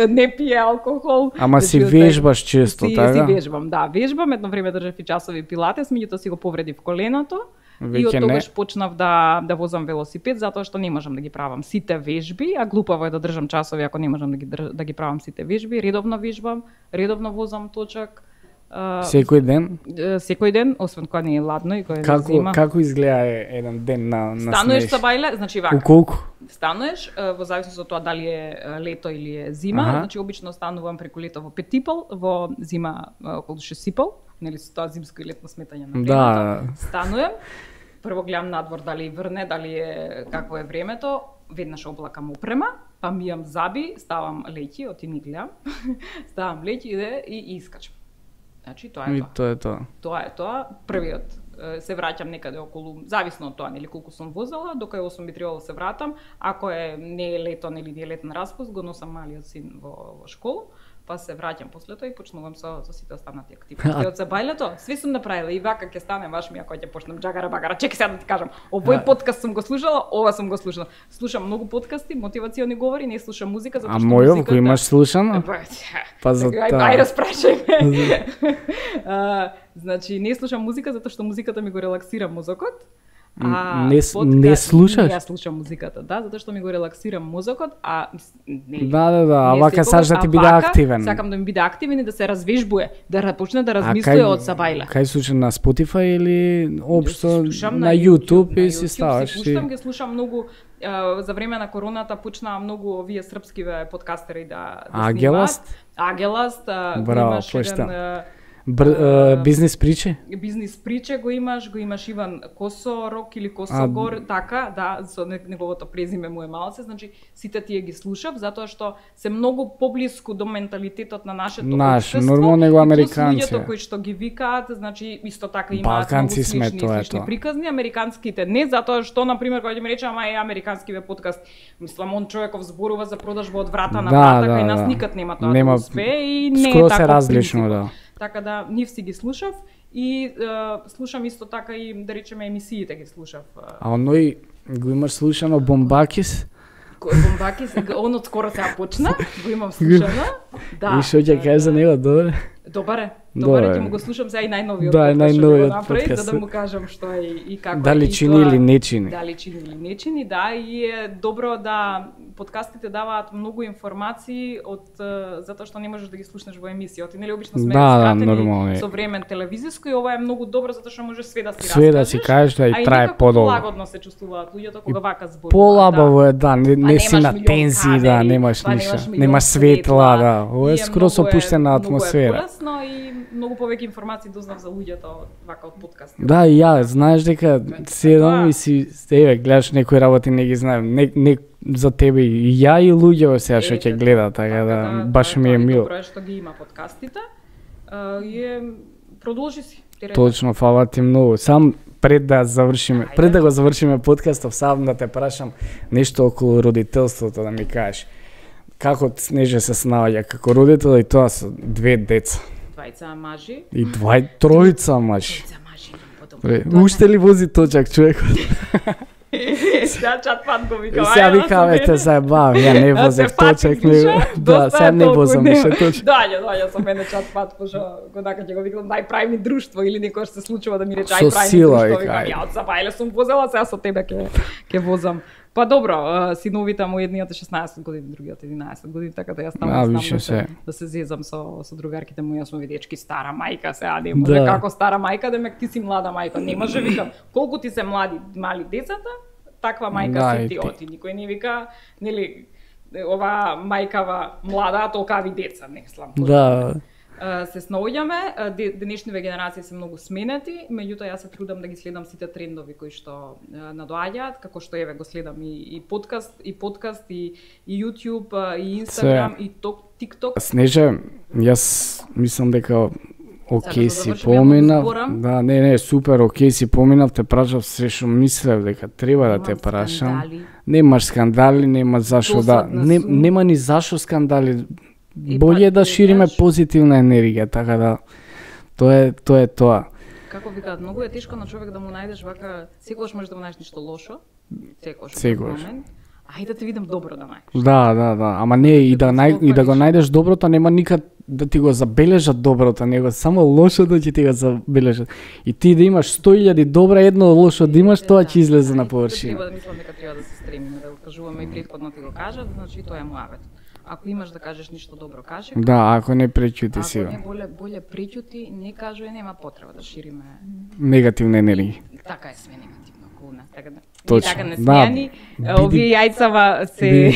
не пие алкохол. Ама си вежбаш често, така? Си вежбам, да, вежбам, едно време држав и часови пилатес, меѓутоа си го повредив коленото. И од тогаш почнав да возам велосипед, затоа што не можам да ги правам сите вежби, а глупаво е да држам часови ако не можам да ги правам сите вежби. Редовно вежбам, редовно возам точак. Секој ден? Секој ден, освен кога не е ладно и кога е зима. Како изгледа еден ден на снеж? Стануеш со бајле, значи вака. Колку? Стануеш, во зависност од тоа дали е лето или е зима, значи обично станувам преку лето во Петипол, во зима околу Шесипол, нели со тоа зимско и летно сметање на времето. Да. Стануjem, прво гледам надвор дали врне, дали е какво е времето, веднаш облакам опрема, па мијам заби, ставам леќи, оти ми гледам, ставам леќи и искачам. Значи тоа е тоа. Тоа е тоа. Првиот се враќам некаде околу, зависно од тоа, нели колку сум возела, до кај 8 би требало да се вратам. Ако не е лето, нели не е летен распуст, го носам малиот син во школа, па се враќам после тоа и почнувам со сите останати активности. Од забајлето, све сум направила и вака ќе стане ваш ми ако ќе почнам джагара багара. Чекај сега да ти кажам, овој подкаст сум го слушала, ова сум го слушала. Слушам многу подкасти, мотивациони говори, не слушам музика затоа што музиката. А мојот кој имаш слушано? Па за тоа. Ај распрашај ме. Значи не слушам музика затоа што музиката ми го релаксира мозокот. Не слушаш? Јас слушам музиката, да, затоа што ми го релаксира мозокот, Да, а вака сакаш да ти биде активен. Сакам да ми биде активен и да се развежбуе, да почне да размислува од сабајле. Кај слушаш на Spotify или општо на YouTube и си ставаш? Ги слушам многу. За време на короната почнаа многу овие српски подкастери да снимаат. Агеласт, имаш еден бизнес приче? Бизнес приче го имаш Иван Косорок или Косогор, така, да, со неговото презиме му е малце, значи сите тие ги слушав, затоа што се многу поблиску до менталитетот на нашето општество. Нормално него американци. Луѓето кои што ги викаат, значи исто така имаат многу слични приказни, американските не, затоа што на пример кога ќе ми рече ама американскиве подкаст, мислам он човеков зборува за продажба од врата на врата, кај нас никад нема тоа да успее и не е така различно, да. Така да нив си ги слушав и слушам исто така и да речеме емисиите ги слушав. А оној го имаш слушано Бомбакис? Бомбакис, он од скоро сега почна, го имам слушано. Да. И што ќе кажеш за него, добре? Добре, ќе му го слушам сега и најновиот подкаст, за да му кажам што е и како е. Дали чини или не чини? Дали чини или не чини, да, и е добро да подкастите даваат многу информации затоа што не можеш да ги слушнеш во емисија. Нели обично сме скратени со време телевизиско и ова е многу добро затоа што можеш све да си раскажеш. Све да си кажеш да и трае подолго. Полагодно се чувствуваат луѓето кога вака зборуваат. Полабаво е, да, не си на тензии, да, немаш ништо. Немаш светла, да. Ова е скоро со опуштена атмосфера. Но и многу повеќе информации дознав за луѓето вака од подкаст. Да, и ја, знаеш дека седам и си гледаш некои работи не ги знаем. Не за тебе и ја и луѓе сега што ќе гледа, така да баш ми е мило. Добро е што ги има подкастите. И продолжи си. Точно, фала ти многу. Сам пред да го завршиме подкастов, сам да те прашам нешто околу родителството, да ми кажеш. Како Снеже се снаоѓа како родител и тоа со 2 деца? Двајца мажи. И тројца мажи. Уште ли вози точак човекот? Сега чатпат го викам. Сега викам, те заебав, ја не возев точак. Да, сега не возам више точак. Доаѓа со мене чатпат, пошто годака ќе го викам, дај прави ми друштво или некој се случува да ми рече ај прави ми друштво. Викам, ја од Сапајле сум возела, сега со тебе ќе возам. Па добро, синовите му едниот 16 години, другиот 11 години, така да јас таму да се зезам со другарките му, јас сум видечки стара мајка, сега не може како стара мајка, демек ти си млада мајка. Не може викам, колку ти се мали децата, таква мајка си ти оти. Никој не вика, нели, ова мајкава млада, толкави деца, не слам. Да. Се снаоѓаме, денешниве генерации се многу сменети, меѓутоа јас се трудам да ги следам сите трендови кои што надоаѓаат, како што еве го следам и подкаст, и YouTube, и Instagram, и TikTok. Снеже, јас мислам дека окей си поминав. Да, не, супер, окей си поминав, те прашав се што мислев дека треба да те прашам. Немаш скандали, нема зашо да, нема ни зашо скандали. Боле да шириме позитивна енергија, така да тоа е тоа. Како викаат, многу е тешко на човек да му најдеш вака, секогаш можеш да му најдеш нешто лошо, секогаш. Ајде да те видам добро да најдеш. Да, ама не и да го најдеш доброто, нема никад да ти го забележат доброто, него само лошото ќе ти го забележат. И ти да имаш 100.000 добра, едно лошо да имаш, тоа ќе излезе на површина. Треба да мислам дека треба да се стремиме, да го кажуваме и претходно ти го кажат, значи тоа е муавет. Ако имаш да кажеш ништо добро, кажи. Да, ако не пречути си. Ако не боле пречути, не кажувај, нема потреба да шириме негативна енергија. Така е, све негативно околу нас, така да. Точно. Така не смејани, овие јајцава се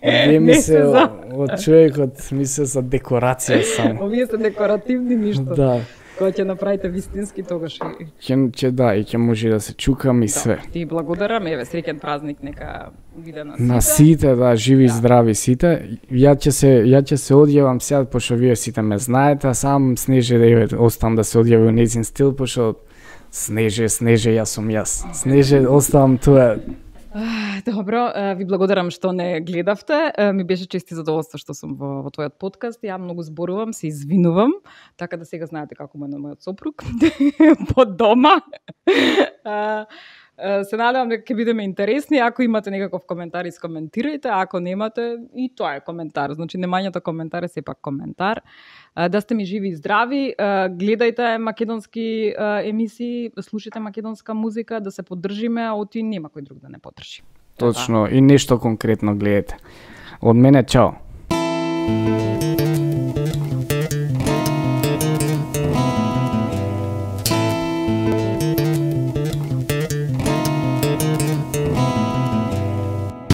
Овие ми се од човекот ми се за декорација само. Овие се декоративни ништо. Да. Кога ќе направите вистински, тогаш ќе може да се чукам и све. Ти благодарам, еве среќен празник нека биде на сите. На сите, да, живи и здрави сите. Ја ќе се одјавам сега, пошто вие сите ме знаете, сам Снеже да оставам да се одјави во нејзин стил, пошто Снеже, јас сум јас. Снеже, оставам тоа. Добро, ви благодарам што не гледавте. Ми беше чест и задоволство што сум во твојот подкаст. Ја многу зборувам, се извинувам, така да сега знаете како му е на мојот сопруг по дома. Се надевам дека ќе бидеме интересни. Ако имате некаков коментар, искоментирајте. Ако немате, и тоа е коментар. Значи, немањето коментар е сепак коментар. Да сте ми живи и здрави. Гледајте македонски емисии, слушајте македонска музика, да се поддржиме, а оти нема кој друг да не поддржи. Точно, и нешто конкретно гледате. Од мене, чао.